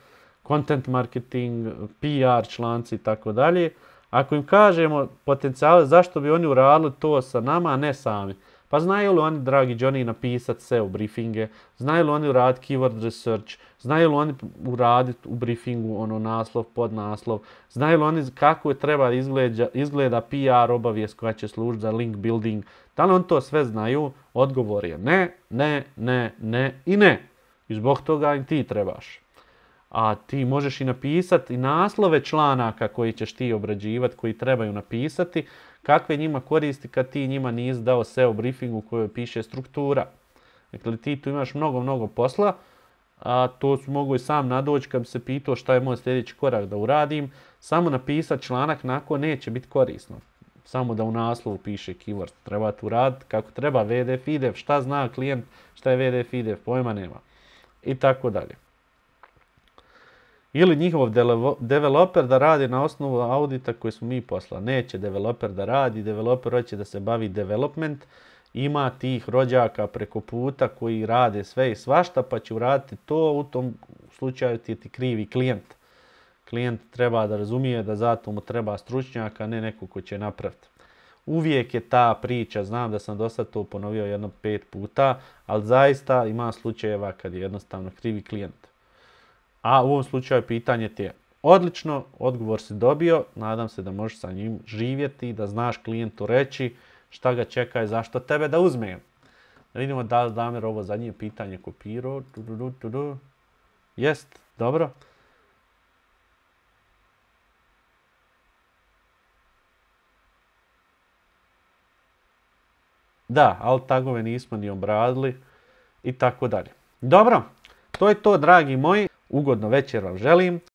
content marketing, P R članci i tako dalje. Ako im kažemo potencijale zašto bi oni uradili to sa nama, a ne sami. Pa znaju li oni, dragi Johnny, napisati S E O briefinge, znaju li oni uraditi keyword research, znaju li oni uraditi u briefingu ono naslov, podnaslov, znaju li oni kako je treba izgleda, izgleda P R obavijest koja će služiti za link building, da li oni to sve znaju? Odgovor je ne, ne, ne, ne i ne. I zbog toga im ti trebaš. A ti možeš i napisati i naslove članaka koji ćeš ti obrađivati, koji trebaju napisati, kakve njima koristi kad ti njima nisi dao S E O briefing u kojoj piše struktura. Dakle, ti tu imaš mnogo, mnogo posla, a to su mogu i sam nadoći kad bi se pitao šta je moj sljedeći korak da uradim. Samo napisati članak nakon neće biti korisno. Samo da u naslovu piše keyword. Treba tu raditi kako treba, V D F, I D F, šta zna klijent, šta je V D F, I D F, pojma nema. I tako dalje. Ili njihov developer da radi na osnovu audita koji smo mi poslali. Neće developer da radi, developer hoće da se bavi development. Ima tih rođaka preko puta koji rade sve i svašta, pa će uraditi to, u tom slučaju ti je ti krivi klijent. Klijent treba da razumije da zato mu treba stručnjaka, a ne neko ko će napraviti. Uvijek je ta priča, znam da sam do sad to ponovio jedno pet puta, ali zaista ima slučajeva kad je jednostavno krivi klijent. A u ovom slučaju pitanje ti je odlično, odgovor si dobio, nadam se da možeš sa njim živjeti, da znaš klijentu reći šta ga čeka i zašto tebe da uzme. Da vidimo da li Damir ovo zadnje pitanje kopirao. Jest, dobro. Da, alt tagove nismo ni obradili i tako dalje. Dobro, to je to, dragi moji. Ugodno večer vam želim.